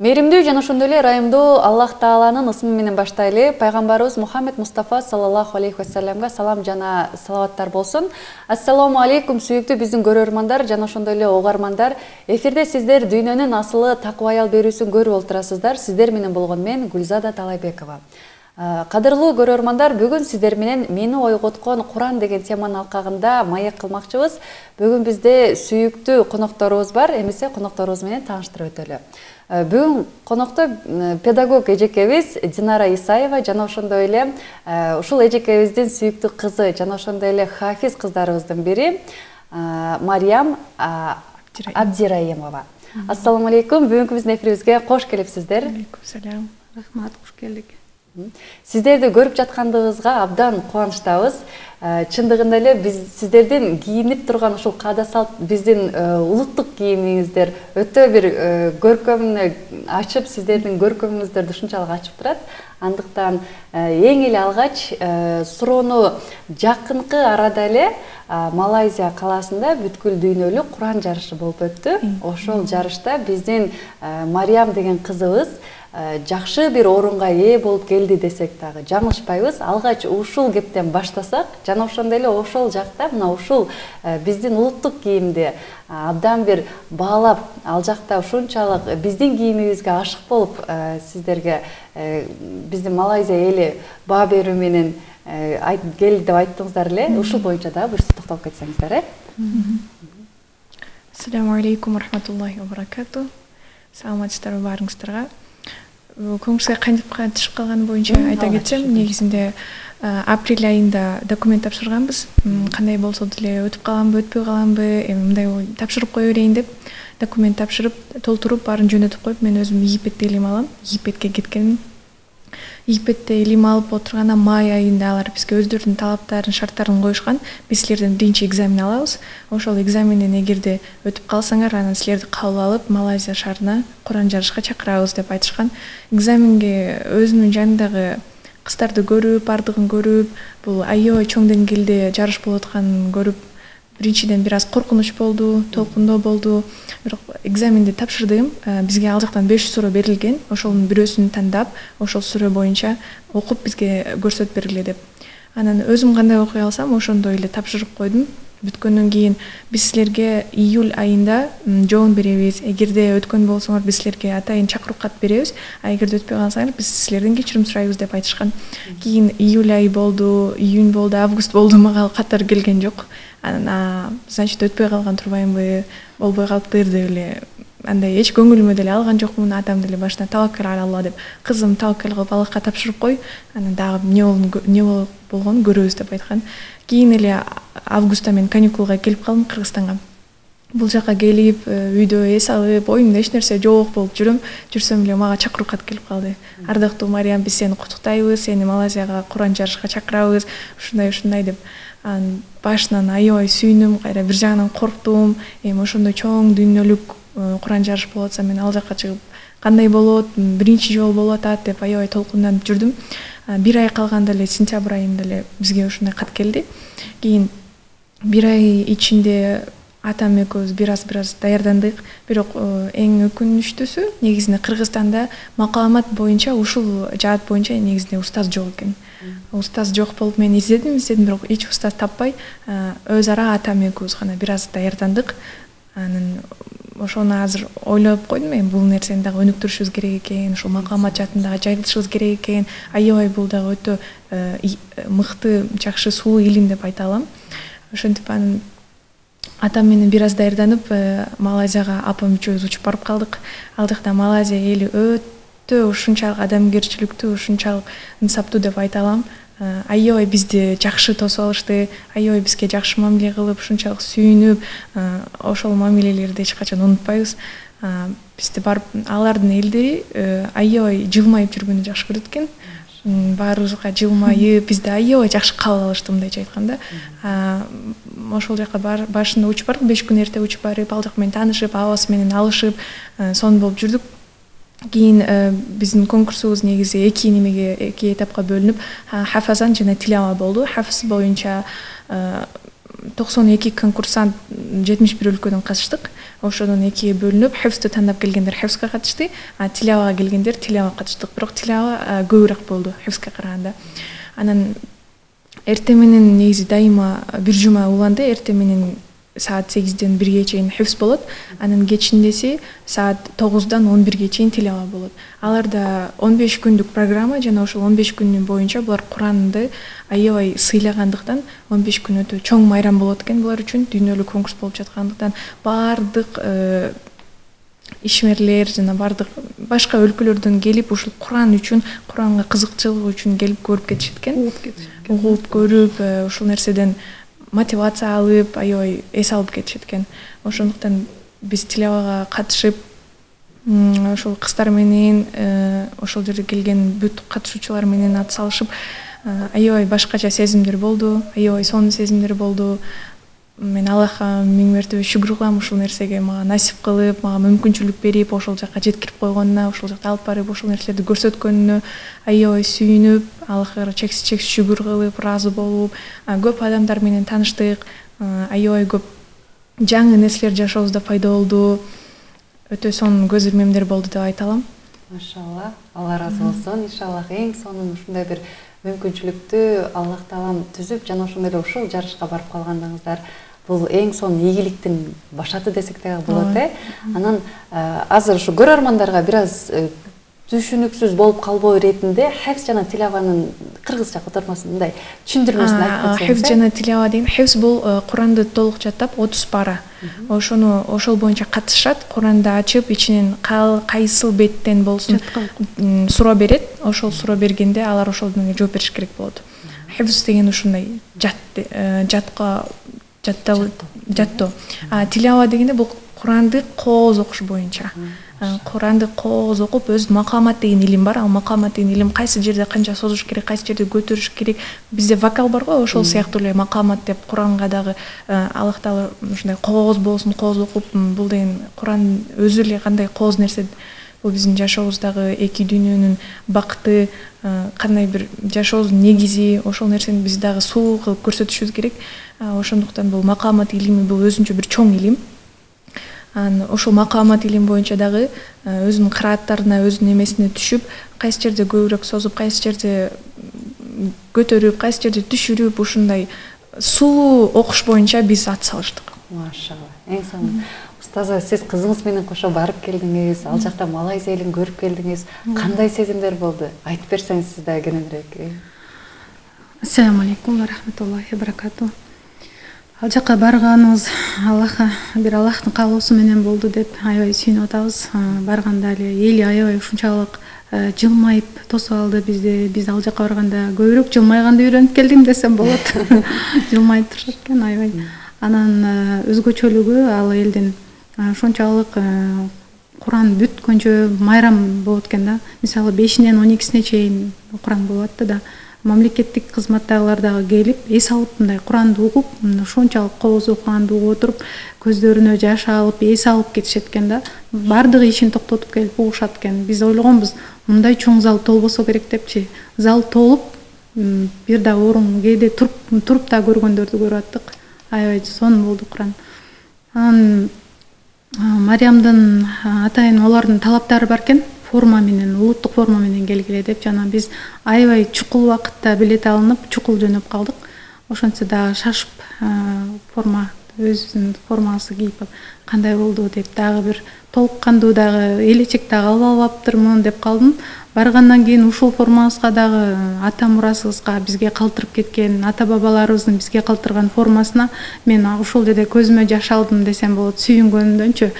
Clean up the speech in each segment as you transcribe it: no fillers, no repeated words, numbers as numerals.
Мээримдүү жана ошондой эле ырайымдуу Аллах Тааланын ысмы менен баштайлы. Пайгамбарыбыз Мухаммед Мустафа саллаллаху алейхи вассаламга салам жана салаваттар болсун. Ассаламу алейкум сүйүктүү биздин көрөрмандар жана ошондой эле угармандар. Эфирде сиздер дүйнөнүн асылы такыба аял берүүсүн көрүп отурасыздар. Сиздер менен болгон мен Гүлзада Талайбекова. Кадырлуу көрөрмандар, бүгүн сиздер менен мени ойготкон Куран деген теманын алкагында маек кылмакчыбыз. Бүгүн бизде сүйүктүү конокторубуз бар. Эмесе конокторубуз менен тааныштырып өтөлү. Бүгүн конокто педагог эжекебиз Динара Исаева жана ошондой эле ушул эжекебиздин сүйүктүү кызы жана ошондой эле хафиз кыздарыбыздын бири Мариям Абдираимова. Ассаламу алейкум. Бүгүнкү биздин эфирибизге кош келипсиздер. Алейкум салам. Рахмат, кош келдик. Сиздерди көрүп жаткандыгыбызга абдан кубанычтабыз. Чындыгында эле биз сиздердин кийинип турган ушул каада салт биздин улуттук кийимиңиздер өтө бир көркөмүнө ачып, сиздердин көркөмүңүздөрдү ушунчалык ачып турат. Андыктан эң эле алгач суроону жакынкы арада эле Малайзия калаасында бүткүл дүйнөлүк Куран жарышы болуп өттү. Ошол жарышта биздин Мариям деген кызыбыз жакшы бир орунга ээ болуп келди десек дагы жаңылышпайбыз. Алгач ушул кептен баштасак, жана ошондой эле ошол жакта мына ушул биздин улуттук кийимди абдан бир баалап, ал жакта ушунчалык биздин кийимибизге ашык болуп сиздерге биздин Малайзия эли баа берүү менен келди деп айттыңыздар эле. Ушул боюнча дагы буюрса токтолуп кетсеңиздер, Ассаламу алейкум рахматуллахи ва баракату. Саламатсыздарбы баарыңыздарга. Конкурска кантип катышып калган боюнча айта кетсем, негизинде апрель айында документ тапшырганбыз. Кандай болсо деле өтүп каламбы, өтпөй каламбы, мындай тапшырып кое берейин деп документ тапшырып, толтуруп, баарын жөнөтүп коюп, мен өзүм Египетте илим алам. Египетке кеткенмин. Египетте илим алып отурганда май айында алар бизге өздөрүнүн талаптарын, шарттарын коюшкан. Биз силерден биринчи экзамен алабыз. Ошол экзаменден эгерде өтүп калсаңар, анан силерди кабыл алып, Малайзия шаарына Куран жарышка чакырабыз деп айтышкан. Экзаменге өзүмдүн жанымдагы кыздарды көрүп, бардыгын көрүп, бул аябай чоң деңгээлде жарыш болуп атканын көрүп, биринчиден бир аз коркунуч болду, толкундоо болду. Бирок экзаменди тапшырдым. Бизге ал жактан 5 суроо берилген. Ошонун бирөөсүн тандап, ошол суроо боюнча окуп бизге көрсөтүп бергиле деп. Анан өзүм кандай окуй алсам, ошондой эле тапшырып койдум. Бүткөндөн кийин биз силерге июль айында жоон беребиз. Эгерде өткөн болсоңор биз силерге атайын чакыруу кат беребиз. Эгерде өтпөй калсаңар биз силерден кечирим сурайбыз деп айтышкан. Кийин июль айы болду, июнь болду, август болду, мага каттар келген жок. Анан значит өтпөй калган турбаймынбы, болбой калыптыр деп эле андай эч көңүлүмө деле алган жокмун. Атам деле башынан таваккал ала Алла деп, кызым таваккал кылып Аллахка тапшырып кой, анан дагы эмне болгонун көрөбүз деп айткан. Кийин эле августта мен каникулга келип калдым Кыргызстанга. Бул жака келип, үйдө эс алып, оюмда эч нерсе жок болуп жүрсөм эле мага чакыруу кат келип калды. Ардактуу Мариям, биз сени куттуктайбыз, сени Малайзияга Куран жарышка чакырабыз, ушундай деп. Анан башынан аябай сүйүндүм, кайра бир жагынан корктум. Ошондой чоң дүйнөлүк Куран жарыш болуп атса, мен ал жакка чыгып кандай болот, биринчи жолу болуп атат деп аябай толкунданып жүрдүм. Бир ай калганда эле сентябрь айында эле бизге ушундай кат келди. Кийин бир ай ичинде атам экөөбүз бир аз даярдандык. Бирок эң өкүнүчтүүсү негизинде Кыргызстанда макаламат боюнча ушул жаат боюнча негизинде устаз жок экен. Устаз жок болуп мен издедим, бирок эч устаз таппай, өз ара атам экөөбүз гана бир аз даярдандык. Анан ошону азыр ойлоп койдум, бул нерсени дагы өнүктүрүшүбүз керек экен, ушул макаламат жаатында жайылтышыбыз керек экен. Аябай бул дагы өтө мыкты, жакшы суу илим деп айта алам. Ошентип анан атам менен бир аз даярданып, Малайзияга апам үчөөбүз учуп барып калдык. Ал жакта Малайзия эли өтө ушунчалык адамгерчиликтүү, ушунчалык ынсаптуу деп айта алам. Аябай бизди жакшы тосуп алышты, аябай бизге жакшы мамиле кылып, ушунчалык сүйүнүп, ошол мамилелерди эч качан унутпайбыз. Бизди барып алардын элдери аябай жылмайып жүргөндү жакшы көрөт экен. Баарыбызга жылмайып, бизди аябай жакшы кабыл алышты, мындайча айтканда. Ошол жака башында учуп бардык, 5 күн эрте учуп барып, ал жак менен таанышып, абасы менен алышып, сонун болуп жүрдүк. Кийин биздин конкурсубуз негизи эки этапка бөлүнүп, хафазан жана тилава болду. Хафыз боюнча 92 конкурсант 71 өлкөдөн катыштык. Ошодон экиге бөлүнүп, хифзди тандап келгендер хифзге катышты, тилавага келгендер тилавага катыштык. Бирок тилава көбүрөөк болду хифзге караганда. Анан эртең менен негизи дайыма бир жума уланды. Эртең менен саат 8-ден 1-ге чейин хифз болот. Анан кечиндеси саат 9-дан 11-ге чейин тилава болот. Аларда 15 күндүк программа, жана ошол 15 күндүн боюнча булар Куранды аябай сыйлагандыктан 15 күн өтө чоң майрам болот экен булар үчүн. Дүйнөлүк конкурс болуп жаткандыктан бардык ишмерлер жана бардык башка өлкөлөрдөн келип ушул Куран үчүн, Куранга кызыкчылыгы үчүн келип көрүп кетишет экен. Угуп көрүп, ушул нерседен мотивация алып, аябай эс алып кетишет экен. Ошондуктан биз тилавага катышып, ошол кыздар менен, ошол жерге келген бүт катышуучулар менен ат салышып, аябай башкача сезимдер болду, аябай сонун сезимдер болду. Мен Аллахка миң мертебе шүгүр кылам ушул нерсеге мага насип кылып, мага мүмкүнчүлүк берип, ошол жакка жеткирип койгонуна, ошол жакта алып барып ошол нерселерди көрсөткөнүнө аябай сүйүнүп, Аллахка чексиз шүгүр кылып, ыраазы болуп, көп адамдар менен тааныштык, аябай көп жаңы нерселер жашообузда пайда болду. Өтө сонун көз ирмемдер болду деп айта алам. Машалла, Алла ыраазы болсун. Иншаллах эң сонун ушундай бир мүмкүнчүлүктү Аллах таалам түзүп, жана ошондой эле ушул жарышка барып калгандыгыңыздар бул эң сонун ийгиликтин башаты десек дагы болот, Анан азыр ушу көрөрмандарга бир аз түшүнүксүз болуп калбоо иретинде хифз жана тилаванын кыргызча котормосун мындай түшүндүрмөсүн айтып кетсеңиз. Хифз жана тилава деген хифз бул Куранды толук жаттап 30 пара. Ошол боюнча катышат, Куранды ачып, ичинен кайсыл беттен болсун суроо берет. Ошол суроо бергенде алар ошолдон жооп бериш керек болот. Хифз деген ушундай жаттоо. Тилава дегенде бул Куранды кооз окуш боюнча. Куранды кооз окуп, өз макамат деген илим бар. Ал макамат деген илим кайсы жерде канча созуш керек, кайсы жерде көтөрүш керек. Бизде вокал бар го, ошол сыяктуу эле макамат деп Куранга дагы Аллах таала ушундай кооз болсун, кооз окуп, бул деген Куран өзү эле кандай кооз нерсе. Бул биздин жашообуздагы эки дүйнөнүн бакыты, кандай бир жашообуздун негизи, ошол нерсени биз дагы суу кылып көрсөтүшүбүз керек. Ошондуктан бул макамат илими бул өзүнчө бир чоң илим. Ошол макамат илим боюнча дагы өзүнүн кырааттарына, өзүнүн эмесине түшүп, кайсы жерде көбүрөөк созуп, кайсы жерде көтөрүп, кайсы жерде түшүрүп, ушундай сулуу окуш боюнча биз ат салыштык. Машалла, эң сонун. Устаза, сиз кызыңыз менен кошо барып келдиңиз, ал жакта Малайзия элин көрүп келдиңиз. Кандай сезимдер болду? Айтып берсеңиз сиз дагы кененирээк. Ассаламу алейкум ва рахматуллахи ва баракату. Ал жакка барганыбыз бир Аллахтын каалоосу менен болду деп аябай сүйүнүп атабыз. Барганда эле эли аябай ушунчалык жылмайып тосуп алды бизди. Биз ал жакка барганда көбүрөөк жылмайганды үйрөнүп келдим десем болот. Жылмайып турушат экен аябай. Анан өзгөчөлүгү ал элдин ошончалык Куран бүткөнчө майрам болот экен да. Мисалы 5-нен 12-сине чейин Куран болуп атты да. Мамлекеттик кызматтагылар дагы келип, эс алып мындай Куранды угуп, ошончалык кооз окуганды угуп отуруп, көздөрүнө жаш алып, эс алып кетишет экен да. Бардыгы ишин токтотуп келип угушат экен. Биз ойлогонбуз, мындай чоң зал толбосо керек депчи. Зал толуп, бир да орун кээде туруп да көргөндөрдү көрүп аттык. Аябай сонун болду Куран. Анан Мариямдын атайын олардын талаптары бар экен. Форма менен, улуттук форма менен келгиле деп, жана биз аябай чукул убакытта билет алынып, чукул жөнөп калдык. Ошентсе дагы шашып форма өзүнүн формасы кийип кандай болду деп дагы бир толук кандуу дагы элечек дагы алып албаптырмын деп калдым. Баргандан кийин ушул формабызга дагы ата мурасыбызга бизге калтырып кеткен, ата бабаларыбыздын бизге калтырган формасына мен ушул жерде көзүмө жаш алдым десем болот, сүйүнгөнүмдөнчү.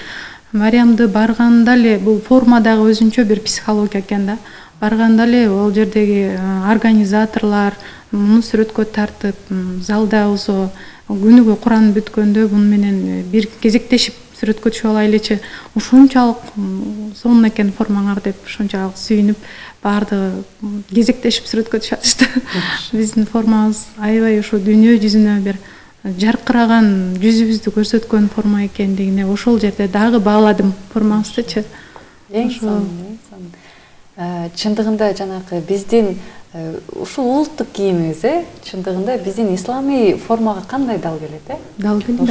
Мариямды барганда эле бул форма дагы өзүнчө бир психология экен да. Барганда эле ал жердеги организаторлор муну сүрөткө тартып, залда болсо күнүгө Куран бүткөндө муну менен бир кезектешип сүрөткө түшүп алайлычы. Ушунчалык сонун экен формаңар деп ушунчалык сүйүнүп, бардыгы кезектешип сүрөткө түшүштү. Биздин формабыз аябай ушу дүйнө жүзүнө бир жаркыраган жүзүбүздү көрсөткөн форма экендигине ошол жерде дагы бааладым формабыздычы. Эң сонун. Чындыгында жанагы биздин ушул улуттук кийимиңиз чындыгында биздин исламий формага кандай дал келет Дал келет.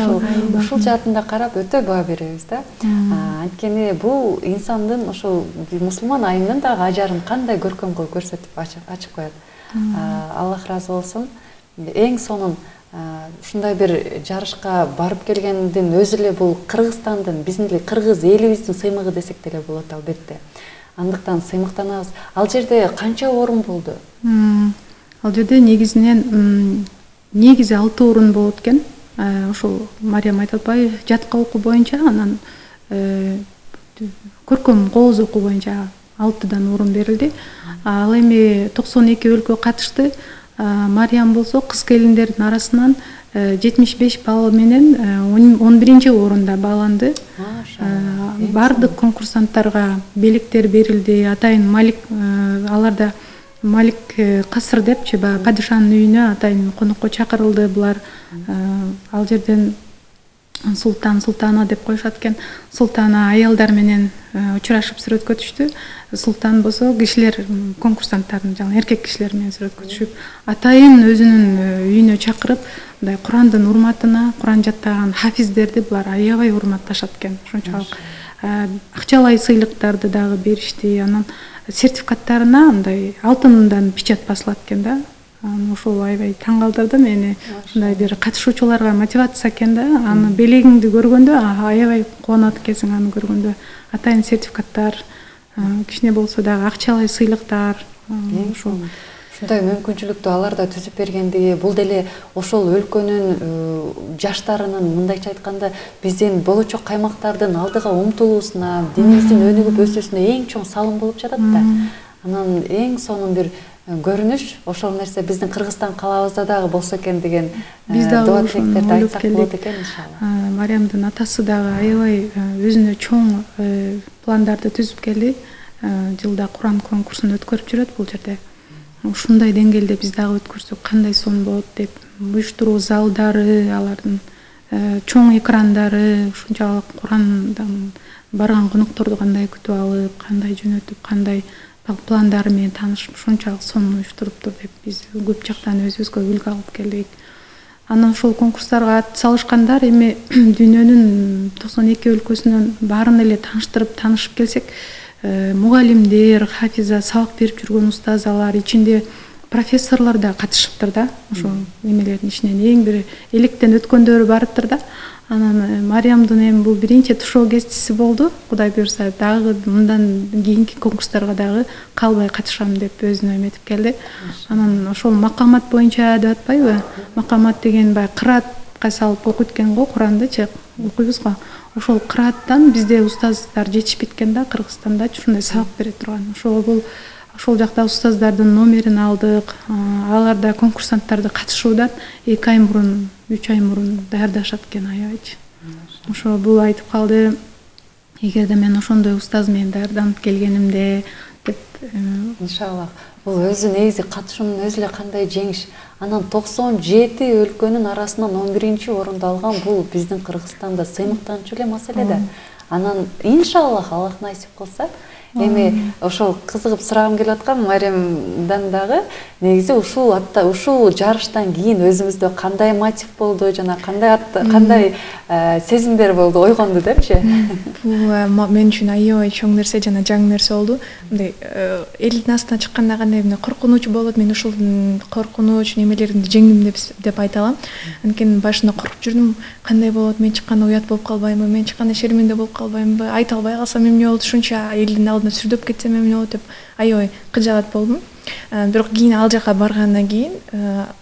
Ушул жаатында карап өтө баа беребиз да. Анткени бул инсандын ошол мусулман айымдын дагы ажарын кандай көркөм кылып көрсөтүп ачып коет. Аллах ыраазы болсун. Эң сонун ушундай бир жарышка барып келгендин өзү эле бул Кыргызстандын, биздин эле кыргыз элибиздин сыймыгы десек деле болот албетте. Андыктан сыймыктанабыз. Ал жерде канча орун болду? Ал жерде негизи 6 орун болот экен. Ошол Мариям айтып атпайбы, жатка окуу боюнча, анан көркөм кооз окуу боюнча 6дан орун берилди. Ал эми 92 өлкө катышты. Мариям болсо кыз келиндердин арасынан 75 балл менен 11-чи орунда бааланды. Бардык конкурсанттарга белектер берилди. Атайын Малик, аларда Малик касыр депчи, баягы падышанын үйүнө атайын конокко чакырылды. Булар ал жерден султана деп коюшат экен. Султана аялдар менен учурашып сүрөткө түштү. Султан болсо кишилер, конкурсанттардын жаңы эркек кишилер менен сүрөткө түшүп, атайын өзүнүн үйүнө чакырып, мындай Курандын урматына, Куран жаттаган хафиздерди булар аябай урматташат экен. Ошончолук акчалай сыйлыктарды дагы беришти. Анан сертификаттарына мындай алтындан печать басылат экен да. Ошол аябай таң калтырды мени. Мындай бир катышуучуларга мотивация экен да. Аны белегиңди көргөндө аябай кубанат экенсиң, аны көргөндө. Атайын сертификаттар, кичине болсо дагы акчалай сыйлыктар. Ушундай мүмкүнчүлүктү алар да түзүп бергендиги, бул деле ошол өлкөнүн жаштарынын, мындайча айтканда, биздин болочок каймактардын алдыга умтулуусуна, динибиздин өнүгүп өсүүсүнө эң чоң салым болуп жатат да. Анан эң сонун бир көрүнүш, ошол нерсе биздин Кыргызстан калабызда дагы болсо экен деген дуа тилектерди айтсак болот экен иншалла. Мариямдын атасы дагы аябай өзүнө чоң пландарды түзүп келди. Жылда Куран конкурсун өткөрүп жүрөт бул жерде. Ушундай деңгээлде биз дагы өткөрсөк кандай сонун болот деп, уюштуруу залдары, алардын чоң экрандары, ушунчалык Курандан барган конокторду кандай күтүп алып, кандай жөнөтүп, кандай пландары менен таанышып, ушунчалык сонун уюштуруптур деп биз көп жактан өзүбүзгө үлгү алып келдик. Анан ошол конкурстарга ат салышкандар эми дүйнөнүн 92 өлкөсүнөн баарын эле таанышып келсек, мугалимдер, хафиза, сабак берип жүргөн устазалар, ичинде профессорлор да катышыптыр да. Ошол немелердин ичинен эң бир электен өткөндөрү барыптыр да. Анан Мариямдын эми бул биринчи тушоо кестиси болду. Кудай буюрса, дагы мындан кийинки конкурстарга дагы калбай катышам деп өзүнө эметип келди. Анан ошол макамат боюнча деп атпайбы? Макамат деген баягы кыраатка салып окуйт экен го, Курандычы окуйбуз го. Ошол кырааттан бизде устаздар жетишпейт экен да, Кыргызстандачы ушундай сабак бере турган. Ошол жакта устаздардын номерин алдык. Алар да конкурсанттарды катышуудан 2 ай мурун, 3 ай мурун даярдашат экен аябайчы. Ошо бул айтып калды. Эгерде мен ошондой устаз менен даярданып келгенимде деп, иншалла. Бул өзү негизи катышуунун өзү эле кандай жеңиш. Анан 97 өлкөнүн арасынан 11-чи орунду алган бул биздин Кыргызстанда сыймыктанчу эле маселе да. Анан иншалла Аллах насип кылса, эми ошол кызыгып сурагым келип аткан Мариямдан дагы негизи ушул жарыштан кийин өзүңүздө кандай мотив болду жана кандай сезимдер болду, ойгонду депчи? Бул мен үчүн аябай чоң нерсе жана жаңы нерсе болду. Мындай элдин астына чыкканда кандай коркунуч болот, мен ушул коркунуч немелерди жеңдим деп айта алам. Анткени башында коркуп жүрдүм, кандай болот, мен чыкканда уят болуп калбаймынбы, мен чыкканда шерменде болуп калбаймынбы, айта албай калсам эмне болот, ушунча элдин алдына сүрдөп кетсем эмне болот деп аябай кыжаат болдум. Бирок кийин ал жака баргандан кийин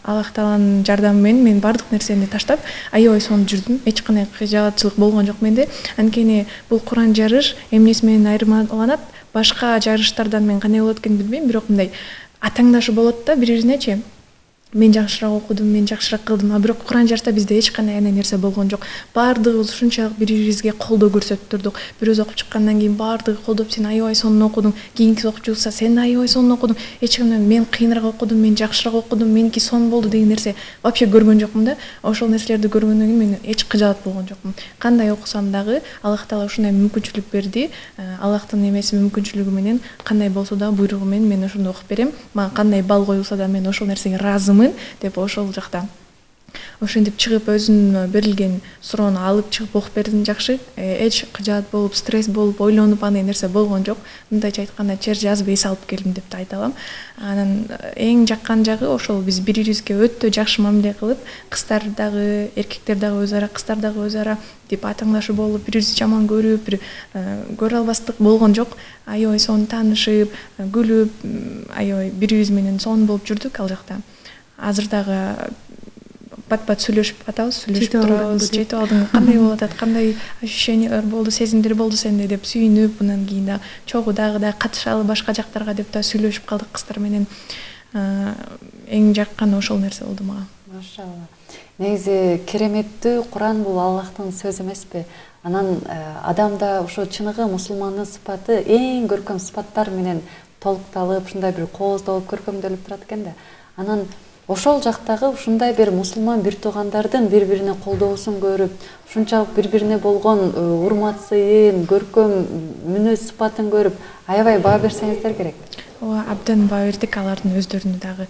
Аллах Тааланын жардамы менен мен бардык нерсени таштап аябай сонун жүрдүм. Эч кандай кыжаатчылык болгон жок менде. Анткени бул Куран жарыш эмнеси менен айырмаланат? Башка жарыштардан мен кандай болот экенин билбейм, бирок мындай атаңдашы болот да бири-биринечи. мен жакшыраак окудум, мен жакшыраак кылдым, а бирок Куран жарса бизде эч кандай андай нерсе болгон жок. Баардыгыбыз ушунчалык бири-бирибизге колдоо көрсөтүп турдук. Бир өзү окуп чыккандан кийин баардыгы колдоп, сен аябай сонун окудуң, кийинки окуучу болсо сен аябай сонун окудуң, эч кимден мен кыйыныраак окудум, мен жакшыраак окудум, меники сонун болду деген нерсе вообще көргөн жокмун да. Ошол нерселерди көргөндөн кийин мен эч кыжаат болгон жокмун. Кандай окусам дагы Аллах Таала ушундай мүмкүнчүлүк берди. Аллахтын эмеси мүмкүнчүлүгү менен кандай болсо да буйругу менен мен ошондо окуп берем. Мага кандай балл коюлса да мен ошол нерсеге ыраазымын деп ошол жакта ошентип чыгып өзүнө берилген суроону алып чыгып окуп бердим жакшы. Эч кыжаат болуп, стресс болуп, ойлонуп андай нерсе болгон жок. Мындайча айтканда чер жазып эс алып келдим деп да айта алам. Анан эң жаккан жагы ошол биз бири-бирибизге өтө жакшы мамиле кылып, кыздар дагы, эркектер дагы өз ара, кыздар дагы өз ара деп атаңдашып болуп, бири-бирибизди жаман көрүп, бир көрө албастык болгон жок. Аябай сонун таанышып, күлүп, аябай бири-бирибиз менен сонун болуп жүрдүк ал жакта. Азыр дагы бат-бат сүйлөшүп атабыз, сүйлөшүп турабыз. Жетип алдың, кандай болуп атат, кандай ощущениялар болду, сезимдер болду сенде деп сүйүнүп, андан кийин да чогуу дагы катышалы башка жактарга деп да сүйлөшүп калдык кыздар менен. Эң жакканы ошол нерсе болду мага. Машалла. Негизи кереметтүү Куран бул Аллахтын сөзү эмеспи? Анан адамда ошо чыныгы мусулмандын сыпаты эң көркөм сыпаттар менен толукталып, ушундай бир кооздолуп, көркөмдөлүп турат экен да. Анан ошол жактагы ушундай бир мусулман бир туугандардын бири-бирине колдоосун көрүп, ушунчалык бири-бирине болгон урмат сыйын, көркөм мүнөз сыпатын көрүп, аябай баа берсеңиздер керек. Ооба, абдан баа бердик. Алардын өздөрүнө дагы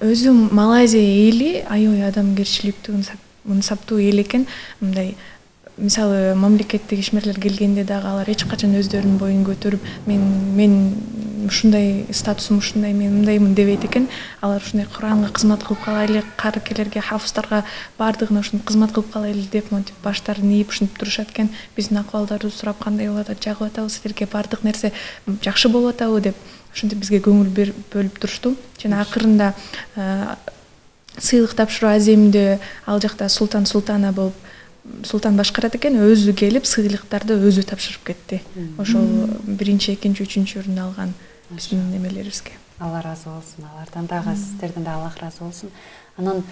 өзү Малайзия эли аябай адамгерчиликтүү, мынсаптуу эл экен. Мындай мисалы мамлекеттик ишмерлер келгенде дагы алар эч качан өздөрүнүн боюн көтөрүп, мен ушундай статусум ушундай, мен мындаймын дебейт экен. Алар ушундай Куранга кызмат кылып калайлы, карыкелерге, хафыздарга баардыгына ушинтип кызмат кылып калайлы деп монтип баштарын ийип ушинтип турушат экен. Биздин акыбалдарды сурап, кандай болуп атат, жагып атабы силерге, баардык нерсе жакшы болуп атабы деп ушинтип бизге көңүл бөлүп турушту. Жана акырында сыйлык тапшыруу аземди ал жакта султана болуп султан башкарат экен, өзү келип сыйлыктарды өзү тапшырып кетти. Ошол биринчи, экинчи, үчүнчү орунду алган биздин немелерибизге. Алла ыраазы болсун, алардан дагы, сиздерден дагы Аллах ыраазы болсун. Анан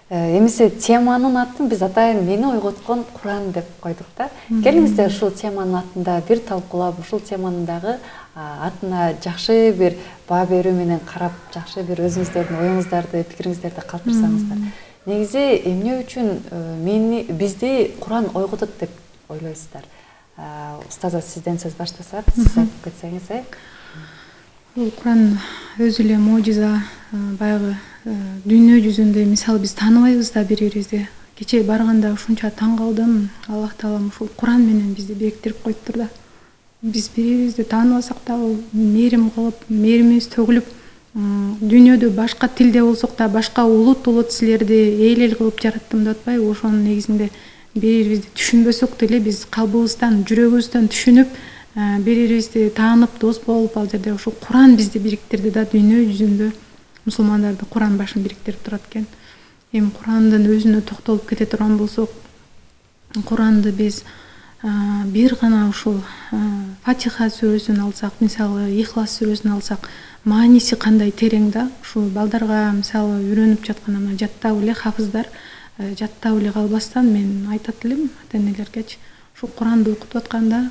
эмесе теманын атын биз атайын мени ойготкон Куран деп койдук да. Келиңиздер ушул теманын атында бир талкуулап, ушул теманын дагы атына жакшы бир баа берүү менен карап, жакшы бир өзүңүздөрдүн оюңуздарды, пикириңиздерди калтырсаңыздар. Негизи эмне үчүн бизди Куран ойготот деп ойлойсуздар? Устаза, сизден сөз баштасак, сиз айтып кетсеңиз. Бул Куран өзү эле можиза, баягы дүйнө жүзүндө мисалы биз тааныбайбыз да бири-бирибизди. Кечээ барганда ушунча таң калдым. Аллах Таалам ушул Куран менен бизди бекиттирип коюптур да. Биз бири-бирибизди тааныбасак да мээрим кылып, мээримибиз төгүлүп, дүйнөдө башка тилде болсок да башка улут силерди эл кылып жараттым деп атпайбы? Ошонун негизинде бири-бирибизди түшүнбөсөк деле биз калбыбыздан, жүрөгүбүздөн түшүнүп, бири-бирибизди таанып, дос болуп, ал жерде ошол Куран бизди бириктирди да. Дүйнө жүзүндө мусулмандарды Куран башын бириктирип турат экен. Эми Курандын өзүнө токтолуп кете турган болсок, Куранды биз бир гана ушул Фатиха сүрөсүн алсак, мисалы Ихлас сүрөсүн алсак, мааниси кандай терең да. Ушул балдарга мисалы үйрөнүп жаткан жаттап эле хафыздар жаттап эле калбастан мен айтат элем ата-энелергечи, ушул Куранды окутуп атканда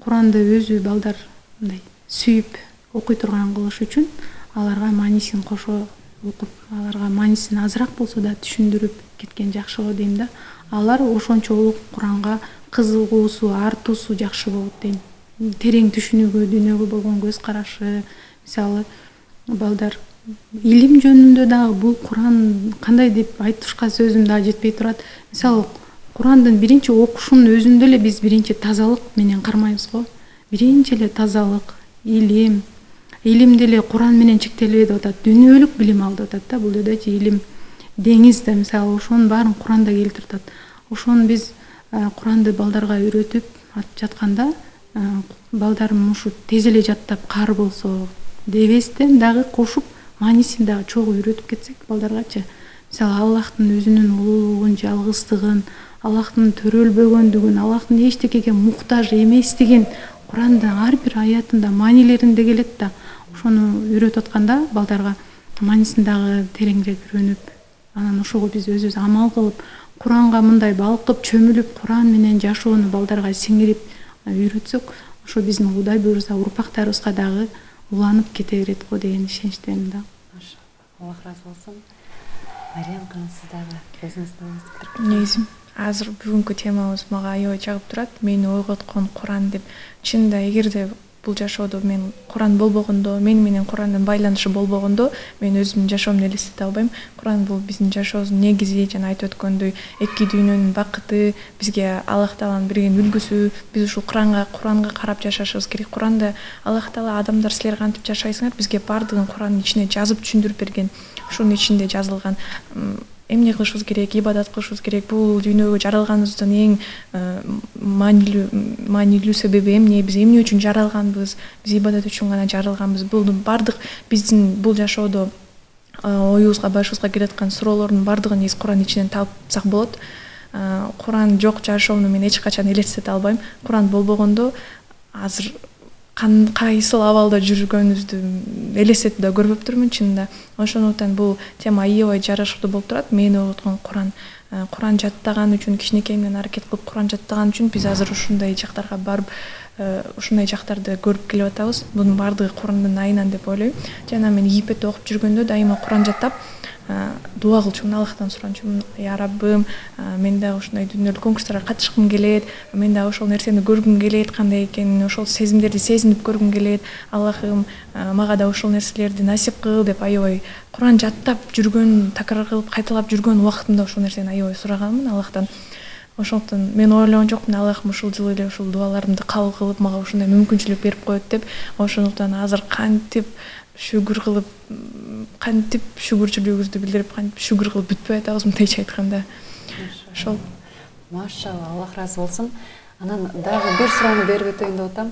Куранды өзү балдар мындай сүйүп окуй турган кылыш үчүн аларга маанисин кошо окуп, аларга маанисин азыраак болсо да түшүндүрүп кеткен жакшы го дейм да. Алар ошончолук Куранга кызыгуусу, артуусу жакшы болот дейм. Терең түшүнүүгө, дүйнөгө болгон көз карашы, мисалы балдар илим жөнүндө дагы бул Куран кандай деп айтышка сөзүм дагы жетпей турат. Мисалы Курандын биринчи окушунун өзүндө эле биз биринчи тазалык менен кармайбыз го. Биринчи эле тазалык, илим деле Куран менен чектелбей деп атат. Дүйнөлүк билим ал деп атат да. Бул жердечи илим деңиз да, мисалы ошонун баарын Куранда келтирип атат. Ошону биз Куранды балдарга үйрөтүп жатканда балдарым ушу тез эле жаттап каар болсо дебестен дагы кошуп маанисин дагы чогуу үйрөтүп кетсек балдаргачы, мисалы Аллахтын өзүнүн улуулугун, жалгыздыгын, Аллахтын төрөлбөгөндүгүн, Аллахтын эчтекеге муктаж эместигин Курандын ар бир аятында маанилеринде келет да. Ошону үйрөтүп атканда балдарга маанисин дагы тереңирээк үйрөнүп, анан ошого биз өзүбүз амал кылып, Куранга мындай балкып, чөмүлүп, Куран менен жашоону балдарга сиңирип үйрөтсөк, ошо биздин Кудай буйруса урпактарыбызга дагы уланып кете берет го деген ишеничтемин да. Аллах разы болсун. Мариям ханым, сиз дагы өзүңүздүн негизи азыр бүгүнкү темабыз мага аябай жагып турат. Мени ойготкон Куран деп. Чынында эгерде бул жашоодо мен Куран болбогондо, мен менен Курандын байланышы болбогондо, мен өзүмдүн жашоомду элестете албайм. Куран бул биздин жашообуздун негизи, жана айтып өткөндөй, эки дүйнөнүн бакыты, бизге Аллах Тааланын берген үлгүсү. Биз ушул Куранга карап жашашыбыз керек. Куранда Аллах Таала адамдар силер кантип жашайсыңар, бизге бардыгын Курандын ичине жазып түшүндүрүп берген. Ушунун ичинде жазылган эмне кылышыбыз керек, ибадат кылышыбыз керек, бул дүйнөгө жаралганыбыздын эң маанилүү себеби эмне, биз эмне үчүн жаралганбыз, биз ибадат үчүн гана жаралганбыз. Бул бардык биздин бул жашоодо оюбузга, башыбызга келаткан суроолордун бардыгын негизи Курандын ичинен тапсак болот. Куран жок жашоомду мен эч качан элестете албайм. Куран болбогондо азыр кайсыл абалда жүргөнүбүздү элестетип да көрбөптүрмүн чынында. Ошондуктан бул тема аябай жарашыктуу болуп турат. Мени ойготкон Куран. Куран жаттаган үчүн, кичинекейимден аракет кылып Куран жаттаган үчүн биз азыр ушундай жактарга барып, ушундай жактарды көрүп келип атабыз. Бунун бардыгы Курандын айынан деп ойлойм. Жана мен Египетте окуп жүргөндө дайыма Куран жаттап, дуа кылчумун, Аллахтан суранчумун, я Раббым, мен дагы ушундай дүйнөлүк конкурстарга катышкым келет, мен дагы ошол нерсени көргүм келет, кандай экенин, ошол сезимдерди сезинип көргүм келет. Аллахым, мага да ошол нерселерди насип кыл деп аябай Куран жаттап жүргөн, такрар кылып кайталап жүргөн убактымда ошол нерсени аябай сураганмын Аллахтан. Ошондуктан мен ойлогон жокмун, Аллахым ушул жылы эле ушул дуаларымды кабыл кылып, мага ушундай мүмкүнчүлүк берип коет деп. Ошондуктан азыр кантип шүгүрчүлүгүбүздү билдирип, кантип шүгүр кылып бүтпөй атабыз, мындайча айтканда. Ошол. Машалла, Аллах разы болсун. Анан дагы бир суроону берип өтөйүн деп атам.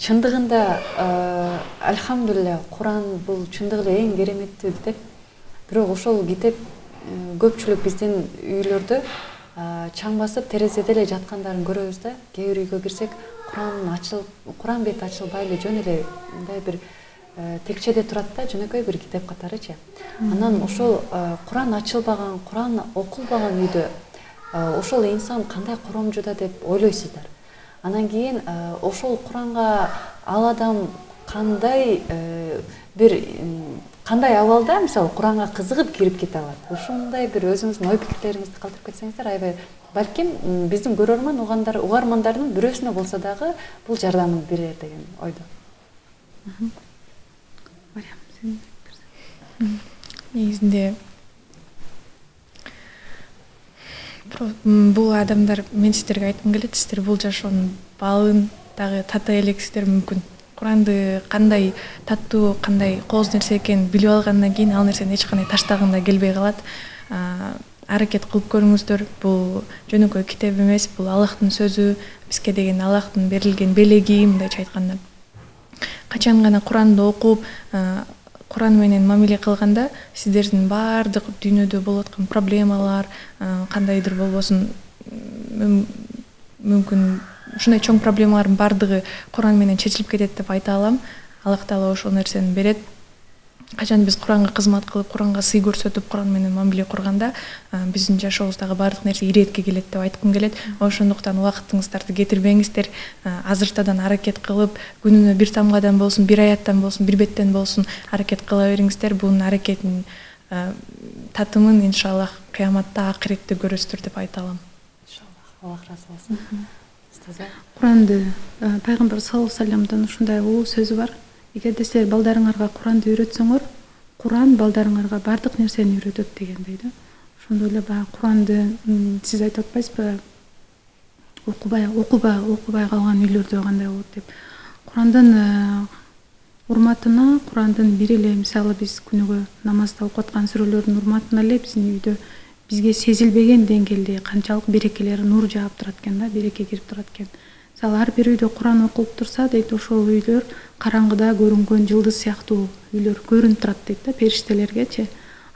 Чындыгында альхамдулилля, Куран бул чындыгы эле эң кереметтүү китеп. Бирок ошол китеп көпчүлүк биздин үйлөрдө чаң басып терезеде эле жаткандарын көрөбүз да. Кээ бир үйгө кирсек, Куран бети ачылбай эле жөн эле мындай бир текчеде турат да, жөнөкөй бир китеп катарычы. Анан ошол Куран ачылбаган, Куран окулбаган үйдө ошол инсан кандай коромжуда деп ойлойсуздар? Анан кийин ошол Куранга ал адам кандай абалда, мисалы, Куранга кызыгып кирип кете алат? Ушундай бир өзүңүздүн ой пикирлериңизди калтырып кетсеңиздер, аябай балким биздин көрөрман угармандардын бирөөсүнө болсо дагы бул жардамын берер деген ойдо. Негизинде бул адамдар, мен сиздерге айткым келет, сиздер бул жашоонун баалын дагы тата элексиздер мүмкүн. Куранды кандай таттуу, кандай кооз нерсе экенин билип алгандан кийин ал нерсени эч кандай таштагың да келбей калат. Аракет кылып көрүңүздөр. Бул жөнөкөй китеп эмес, бул Аллахтын сөзү, бизге деген Аллахтын берилген белеги, мындайча айтканда. Качан гана Куранды окуп, Куран менен мамиле кылганда, сиздердин бардык дүйнөдө болуп аткан проблемалар, кандайдыр болбосун мүмкүн ушундай чоң проблемалардын бардыгы Куран менен чечилип кетет деп айта алам. Аллах Таала ошол нерсени берет. Качан биз Куранга кызмат кылып, Куранга сый көрсөтүп, Куран менен мамиле курганда, биздин жашообуздагы бардык нерсе иретке келет деп айткым келет. Ошондуктан убактыңыздарды кетирбеңиздер. Азыртадан аракет кылып, күнүнө бир тамгадан болсун, бир аяттан болсун, бир беттен болсун аракет кыла бериңиздер. Бунун аракетинин татымын иншаллах кыяматта, акиретте көрөсүздөр деп айта алам. Иншаллах, Аллах разы болсун. Куранды пайгамбар саллаллаху алейхи вассаламдын ушундай улуу сөзү бар. Эгерде силер балдарыңарга Куранды үйрөтсөңөр, Куран балдарыңарга бардык нерсени үйрөтөт дегендей да. Ошондой эле баягы Куранды сиз айтып атпайсызбы? Окубай калган үйлөрдө кандай болот деп. Курандын урматына, Курандын бир эле, мисалы биз күнүгө намазда окуп аткан сүрөлөрдүн урматына эле биздин үйдө бизге сезилбеген деңгээлде канчалык берекелер, нур жаап турат экен да, береке кирип турат экен. Мисалы ар бир үйдө Куран окулуп турса, дейт, ошол үйлөр караңгыда көрүнгөн жылдыз сыяктуу үйлөр көрүнүп турат дейт да, периштелергечи.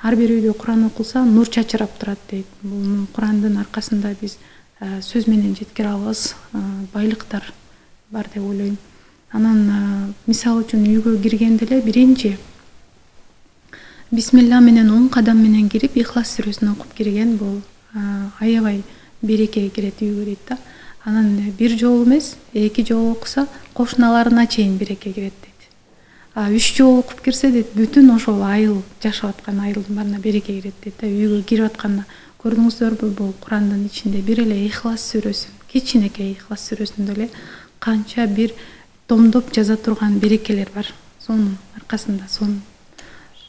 Ар бир үйдө Куран окулса, нур чачырап турат дейт. Бул Курандын аркасында биз сөз менен жеткире алабыз, байлыктар бар деп ойлойм. Анан мисалы үчүн үйгө киргенде эле биринчи бисмилла менен 10 кадам менен кирип Ихлас сүрөсүн окуп кирген, бул аябай береке кирет үйгө дейт да. Анан бир жолу эмес, 2 жолу окуса кошуналарына чейин береке кирет дейт. 3 жолу окуп кирсе дейт, бүтүн ошол айыл, жашап аткан айылдын баарына береке кирет дейт да. Үйгө кирип атканда көрдүңүздөрбү, бул Курандын ичинде бир эле Ихлас сүрөсү, кичинекей Ихлас сүрөсүндө эле канча бир томдоп жаза турган берекелер бар. Сонун аркасында сону